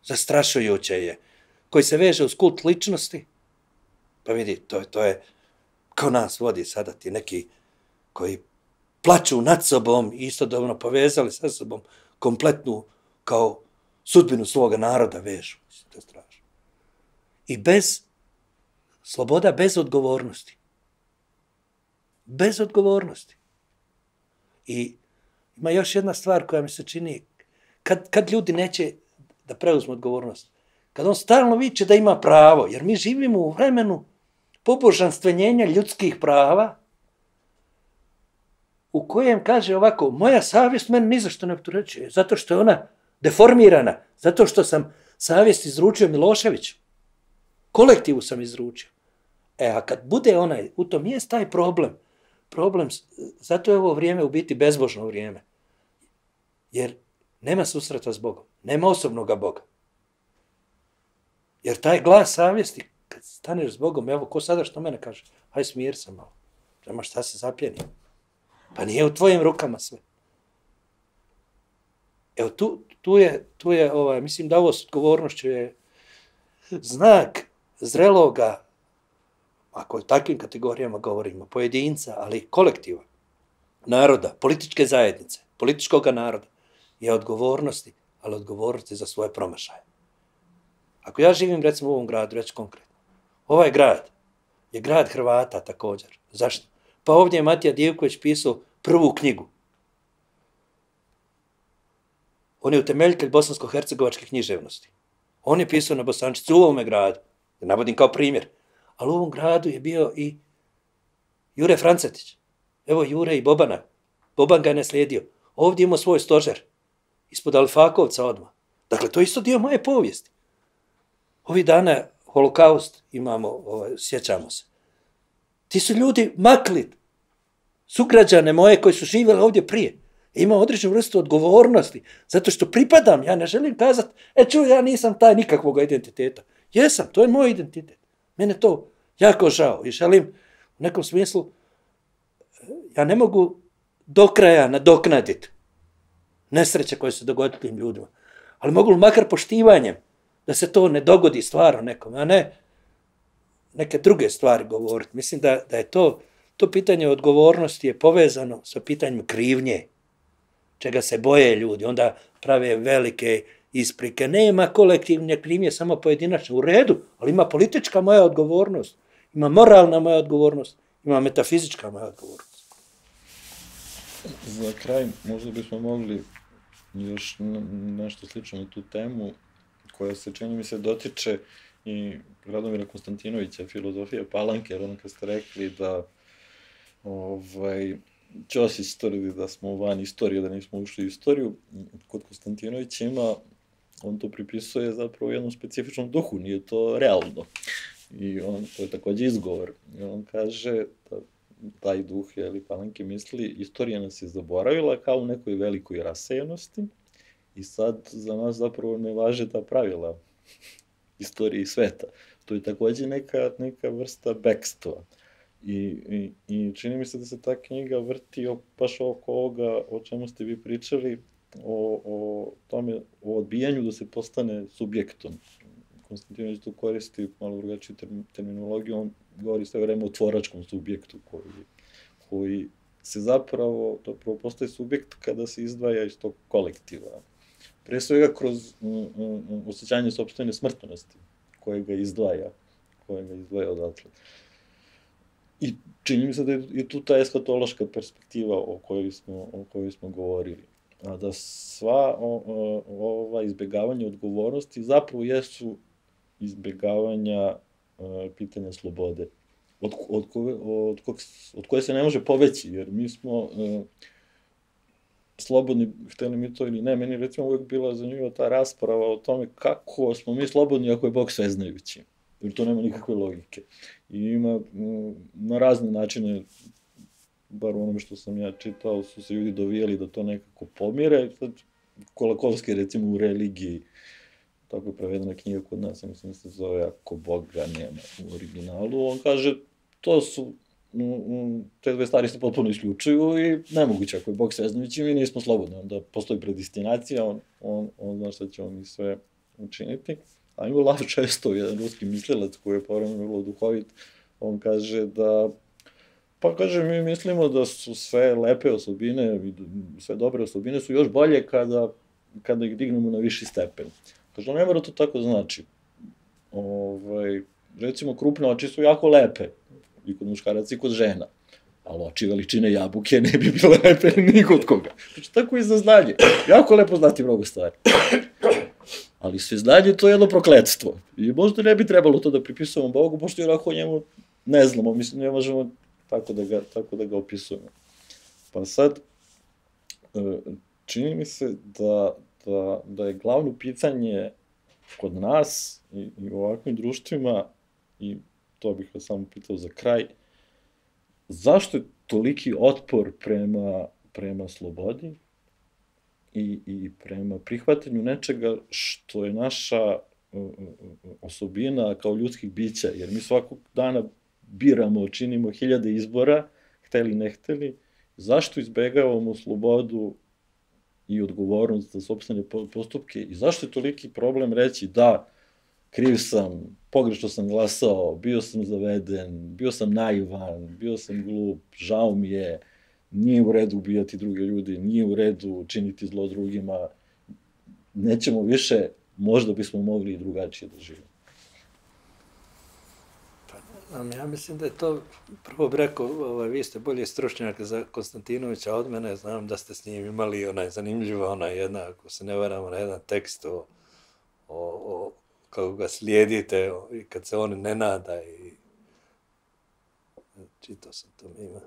zastrašujuće je, koji se veže uz kult ličnosti. Pa vidi, to, to je kao nas vodi sada ti neki koji plaču nad sobom i istodobno povezali sa sobom kompletnu kao sudbinu svoga naroda vežu. Mislim, to je strašno. I bez, sloboda bez odgovornosti. Bez odgovornosti. I ima još jedna stvar koja mi se čini, kad, kad ljudi neće da preuzmu odgovornost, kad on stalno viče da ima pravo, jer mi živimo u vremenu pobožanstvenjenja ljudskih prava, u kojem kaže ovako, moja savjest meni ni za što ne opterećuje, zato što je ona deformirana, zato što sam savjest izručio Miloševiću. Kolektivu sam izručio. E, a kad bude onaj, u tom jest taj problem, problem, zato je ovo vrijeme u biti bezbožno vrijeme. Jer nema susreta s Bogom, nema osobnoga Boga. Jer taj glas savjesti, kad staneš s Bogom, evo, ko sada što mene kaže, haj smir se malo, prema šta se zapjeni. Pa nije u tvojim rukama sve. Evo, tu, tu je, tu je ovaj, mislim da ovo s odgovornošću je znak zreloga, ako o takvim kategorijama govorimo, pojedinca, ali kolektiva, naroda, političke zajednice, političkog naroda, je odgovornosti, ali odgovornosti za svoje promašaje. Ako ja živim, recimo, u ovom gradu, reći konkretno, ovaj grad je grad Hrvata također. Zašto? Pa ovdje je Matija Divković pisao prvu knjigu. On je utemeljitelj bosansko-hercegovačke književnosti. On je pisao na bosančici u ovome gradu. Ja navodim kao primjer. Ali u ovom gradu je bio i Jure Francetić. Evo Jure i Bobana. Boban ga je naslijedio. Ovdje imao svoj stožer. Ispod Alfakovca odmah. Dakle, to je isto dio moje povijesti. Ovih dana holokaust imamo, ovaj, sjećamo se. Ti su ljudi makli, sugrađane moje koji su živjeli ovdje prije. Ima određenu vrstu odgovornosti, zato što pripadam, ja ne želim kazati, e čuj, ja nisam taj nikakvog identiteta. Jesam, to je moj identitet. Mene to jako žao i želim u nekom smislu, ja ne mogu do kraja nadoknaditi nesreće koje se dogodili tim ljudima, ali mogu li makar poštivanjem da se to ne dogodi stvarno nekom, a ne neke druge stvari govoriti. Mislim da, da je to, to pitanje odgovornosti je povezano sa pitanjem krivnje, čega se boje ljudi, onda prave velike isprike. Nema kolektivne krivnje, samo pojedinačne. U redu, ali ima politička moja odgovornost, ima moralna moja odgovornost, ima metafizička moja odgovornost. Za kraj, možda bismo mogli još nešto slično na tu temu, koja se, čini mi se, dotiče i Radomira Konstantinovića, filozofije Palanke, jer ono kad ste rekli da ovaj, Ćosić tvrdi da smo van istorije, da nismo ušli u istoriju, kod Konstantinovića ima, on to pripisuje zapravo jednom specifičnom duhu, nije to realno. I on, to je također izgovor. I on kaže da taj duh, jeli, Palanke misli, istorija nas je zaboravila kao u nekoj velikoj rasejanosti i sad za nas zapravo ne važe ta pravila istorije sveta. To je također neka, neka vrsta bekstva. I, i, I čini mi se da se ta knjiga vrti o, baš oko ovoga o čemu ste vi pričali, o, o tome, o odbijanju da se postane subjektom. Konstantinović tu koristi malo drugačiju terminologiju, on govori sve vreme o tvoračkom subjektu koji, koji se zapravo, zapravo postaje subjekt kada se izdvaja iz tog kolektiva. Pre svega kroz mm, mm, osjećanje sopstvene smrtnosti koje ga izdvaja, koje ga izdvaja odatle. I čini mi se da je i tu ta eskatološka perspektiva o kojoj smo, o kojoj smo govorili. A da sva o, o, ova izbjegavanja odgovornosti zapravo jesu izbjegavanja o, pitanja slobode, od, od, koje, od, kog, od koje se ne može poveći, jer mi smo o, slobodni, hteli mi to ili ne, meni recimo uvijek bila zanimljiva ta rasprava o tome kako smo mi slobodni ako je Bog sveznajući. Jer to nema nikakve logike. I ima na razne načine, bar u onome što sam ja čitao, su se ljudi dovijeli da to nekako pomire. Sad, Kolakovski, recimo, u religiji, tako je prevedena knjiga kod nas, mislim da se zove Ako Boga nema u originalu, on kaže, to su, te dve stvari se potpuno isključuju i nemoguće ako je Bog sveznajući, mi nismo slobodni, onda postoji predestinacija, on, on, on zna šta će on i sve učiniti. A Emil Lav često, jedan ruski mislilac koji je povremeno vrlo duhovit, on kaže da, pa kaže, mi mislimo da su sve lepe osobine, sve dobre osobine su još bolje kada, kada ih dignemo na viši stepen. Kaže, ne mora to tako znači. Ovaj, recimo, krupne oči su jako lepe, i kod muškaraca i kod žena, ali oči veličine jabuke ne bi bile lepe ni kod koga. Znači, tako i za znanje. Jako lepo znati mnogo stvari. Ali sve znanje to je jedno prokletstvo. I možda ne bi trebalo to da pripisujemo Bogu, pošto jer ako njemu ne znamo, mislim, ne možemo tako da ga, tako da ga opisujemo. Pa sad, čini mi se da, da, da je glavno pitanje kod nas i, i u ovakvim društvima, i to bih vas samo pitao za kraj, zašto je toliki otpor prema, prema slobodi i, i prema prihvatanju nečega što je naša osobina kao ljudskih bića, jer mi svakog dana biramo, činimo hiljade izbora, hteli ne hteli, zašto izbegavamo slobodu i odgovornost za sopstvene postupke i zašto je toliki problem reći da, kriv sam, pogrešno sam glasao, bio sam zaveden, bio sam naivan, bio sam glup, žao mi je, nije u redu ubijati druge ljudi, nije u redu činiti zlo drugima, nećemo više, možda bismo mogli i drugačije da živimo. Pa, ja mislim da je to, prvo bih rekao, ovaj, vi ste bolje stručnjak za Konstantinovića od mene, znam da ste s njim imali onaj zanimljivo, onaj jedna, ako se ne varamo, na jedan tekst o, o, o kako ga slijedite i kad se on ne nada i čitao sam to ima.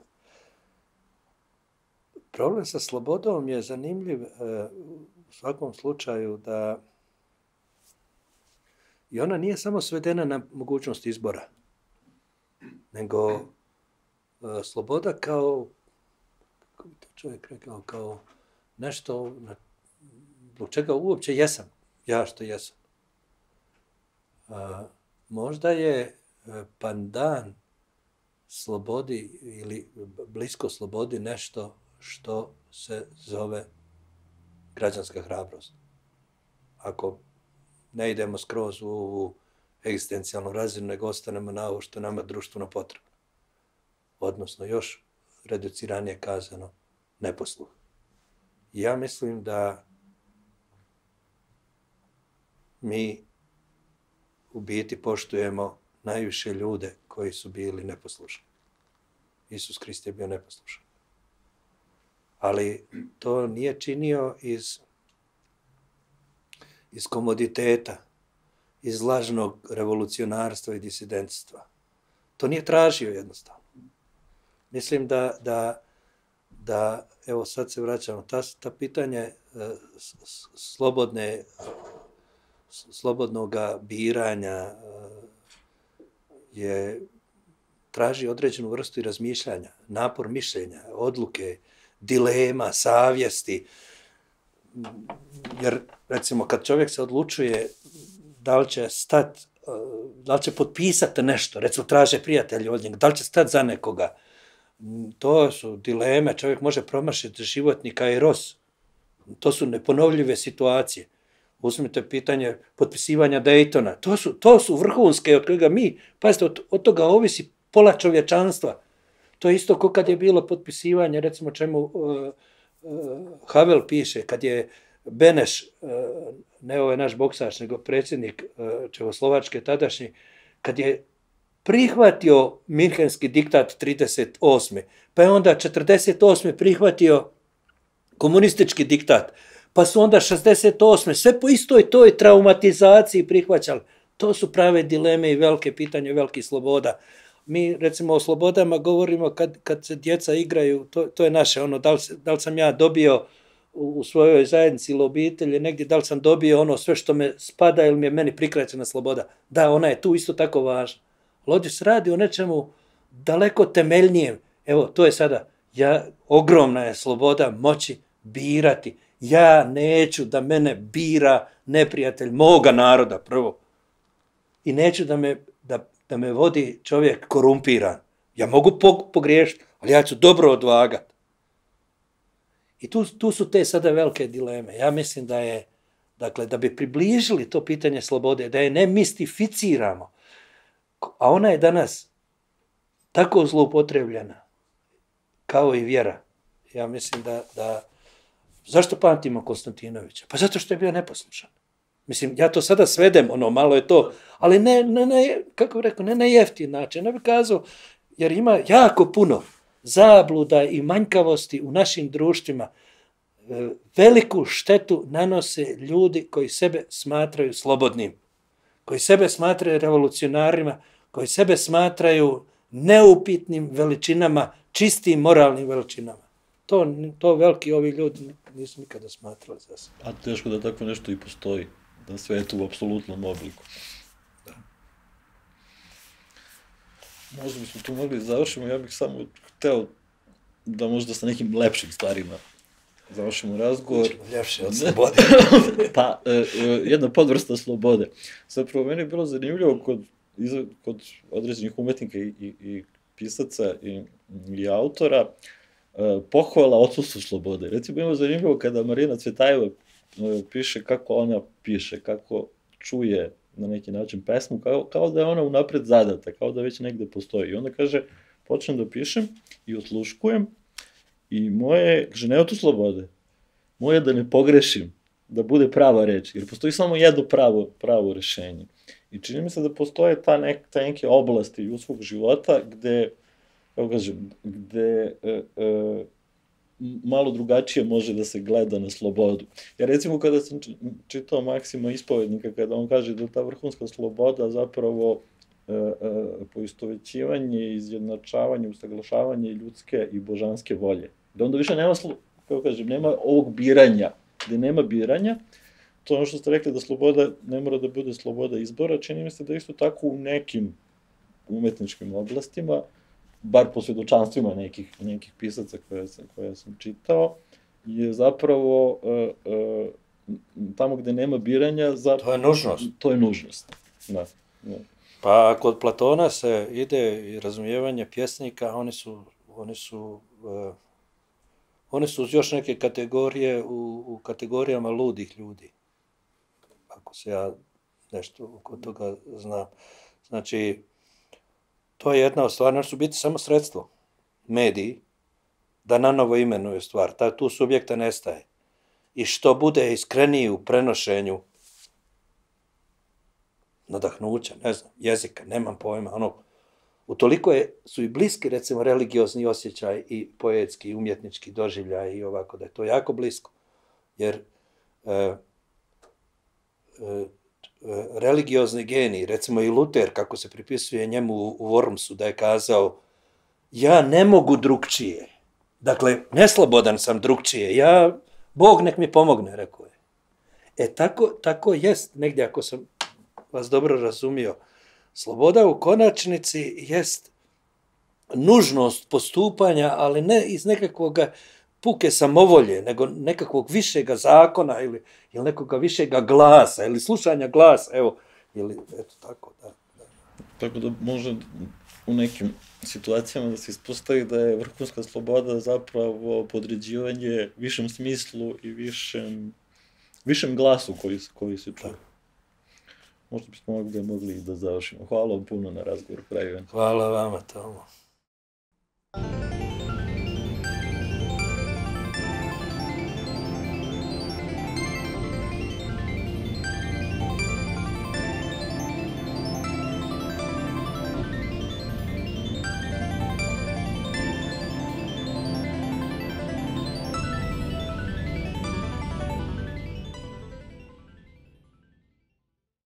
Problem sa slobodom je zanimljiv u svakom slučaju da i ona nije samo svedena na mogućnost izbora, nego sloboda kao, kako bi to čovjek rekao, kao nešto zbog čega uopće jesam, ja što jesam. A, možda je pandan slobodi ili blisko slobodi nešto što se zove građanska hrabrost. Ako ne idemo skroz u ovu egzistencijalnu razinu, nego ostanemo na ovo što nama društveno potrebno. Odnosno, još reduciranije kazano, neposluh. I ja mislim da mi u biti poštujemo najviše ljude koji su bili neposlušni. Isus Krist je bio neposlušan. Ali to nije činio iz, iz komoditeta, iz lažnog revolucionarstva i disidentstva. To nije tražio jednostavno. Mislim da, da, da evo sad se vraćamo, ta, ta pitanje slobodne, slobodnog biranja je, traži određenu vrstu i razmišljanja, napor mišljenja, odluke, dilema, savjesti. Jer, recimo, kad čovjek se odlučuje da li će stati, da li će potpisati nešto, recimo traže prijatelji od njega, da li će stati za nekoga, to su dileme, čovjek može promašiti životni kairos. To su neponovljive situacije. Uzmite pitanje potpisivanja Daytona. To su, to su vrhunske od kojega mi, pazite, od, od toga ovisi pola čovječanstva. To je isto kao kad je bilo potpisivanje, recimo čemu uh, uh, Havel piše, kad je Beneš, uh, ne ovaj naš boksač, nego predsjednik uh, Čehoslovačke tadašnji, kad je prihvatio Minhenski diktat trideset osme pa je onda četrdeset osme prihvatio komunistički diktat, pa su onda šezdeset osme sve po istoj toj traumatizaciji prihvaćali. To su prave dileme i velike pitanje velikih sloboda. Mi, recimo, o slobodama govorimo kad, kad se djeca igraju, to, to je naše, ono, da li, da li sam ja dobio u, u svojoj zajednici ili obitelji, negdje, da li sam dobio ono sve što me spada ili mi je meni prikraćena sloboda. Da, ona je tu isto tako važna. Ali ovdje se radi o nečemu daleko temeljnijem. Evo, to je sada, ja, ogromna je sloboda moći birati. Ja neću da mene bira neprijatelj moga naroda prvo. I neću da me, da, da me vodi čovjek korumpiran. Ja mogu pogriješiti, ali ja ću dobro odvagati. I tu, tu su te sada velike dileme. Ja mislim da je, dakle, da bi približili to pitanje slobode, da je ne mistificiramo, a ona je danas tako zloupotrebljena, kao i vjera. Ja mislim da, da... Zašto pamtimo Konstantinovića? Pa zato što je bio neposlušan. Mislim, ja to sada svedem, ono, malo je to, ali ne, ne, ne kako bih rekao, ne na jeftin način. Ne bih kazao, jer ima jako puno zabluda i manjkavosti u našim društvima. Veliku štetu nanose ljudi koji sebe smatraju slobodnim, koji sebe smatraju revolucionarima, koji sebe smatraju neupitnim veličinama, čistim moralnim veličinama. To, to veliki ovi ljudi nisu nikada smatrali za sebe. A teško da tako nešto i postoji, da sve je tu u apsolutnom obliku. Da. Možda bismo tu mogli završimo, ja bih samo hteo da možda sa nekim lepšim stvarima završimo razgovor. Ljepše od slobode. Pa, e, jedna podvrsta slobode. Zapravo, meni je bilo zanimljivo kod, kod određenih umetnika i, i, i pisaca i, i autora, pohvala odsustvu slobode. Recimo, ima zanimljivo kada Marina Cvetajeva piše kako ona piše, kako čuje na neki način pesmu, kao, kao da je ona unapred zadata, kao da već negde postoji. I onda kaže, počnem da pišem i osluškujem i moje, kaže, nema tu slobode. Moje da ne pogrešim, da bude prava reč, jer postoji samo jedno pravo, pravo rešenje. I čini mi se da postoje ta, nek, ta neke oblasti ljudskog života gde kako kažem, gde e, e, malo drugačije može da se gleda na slobodu. Ja recimo kada sam čitao Maksima Ispovednika, kada on kaže da ta vrhunska sloboda zapravo e, e, poistovećivanje, izjednačavanje, usaglašavanje ljudske i božanske volje. Da onda više nema, kako kažem, nema ovog biranja, gde nema biranja, to ono što ste rekli da sloboda ne mora da bude sloboda izbora, čini mi se da isto tako u nekim umetničkim oblastima, bar po svedočanstvima nekih, nekih pisaca koje sam, koje sam čitao, je zapravo e, e, tamo gde nema biranja... Za... To je nužnost. To je nužnost, da. da. Pa kod Platona se ide i razumijevanje pjesnika, oni su, oni su, uh, oni su još neke kategorije u, u kategorijama ludih ljudi. Ako se ja nešto oko toga znam. Znači, to je jedna od stvari, su biti samo sredstvo, mediji, da nanovo imenuju stvar. Ta, tu subjekta nestaje. I što bude iskreniji u prenošenju nadahnuća, ne znam, jezika, nemam pojma, ono, utoliko je, su i bliski, recimo, religiozni osjećaj i poetski, i umjetnički doživljaj i ovako, da je to jako blisko. Jer e, e, religiozni genij, recimo i Luter, kako se pripisuje njemu u Wormsu, da je kazao, ja ne mogu drugčije. Dakle, neslobodan sam drugčije, ja, Bog nek mi pomogne, rekao je. E, tako, tako jest, negdje, ako sam vas dobro razumio, sloboda u konačnici jest nužnost postupanja, ali ne iz nekakvog puke samovolje, nego nekakvog višega zakona ili, ili nekoga višega glasa, ili slušanja glasa, evo, ili, eto, tako, da. da. Tako da može u nekim situacijama da se ispostavi da je vrhunska sloboda zapravo podređivanje višem smislu i višem, višem glasu koji, koji se čuje. Možda bismo mogli, mogli da završimo. Hvala vam puno na razgovor, Pravi. Hvala vama, Tomo.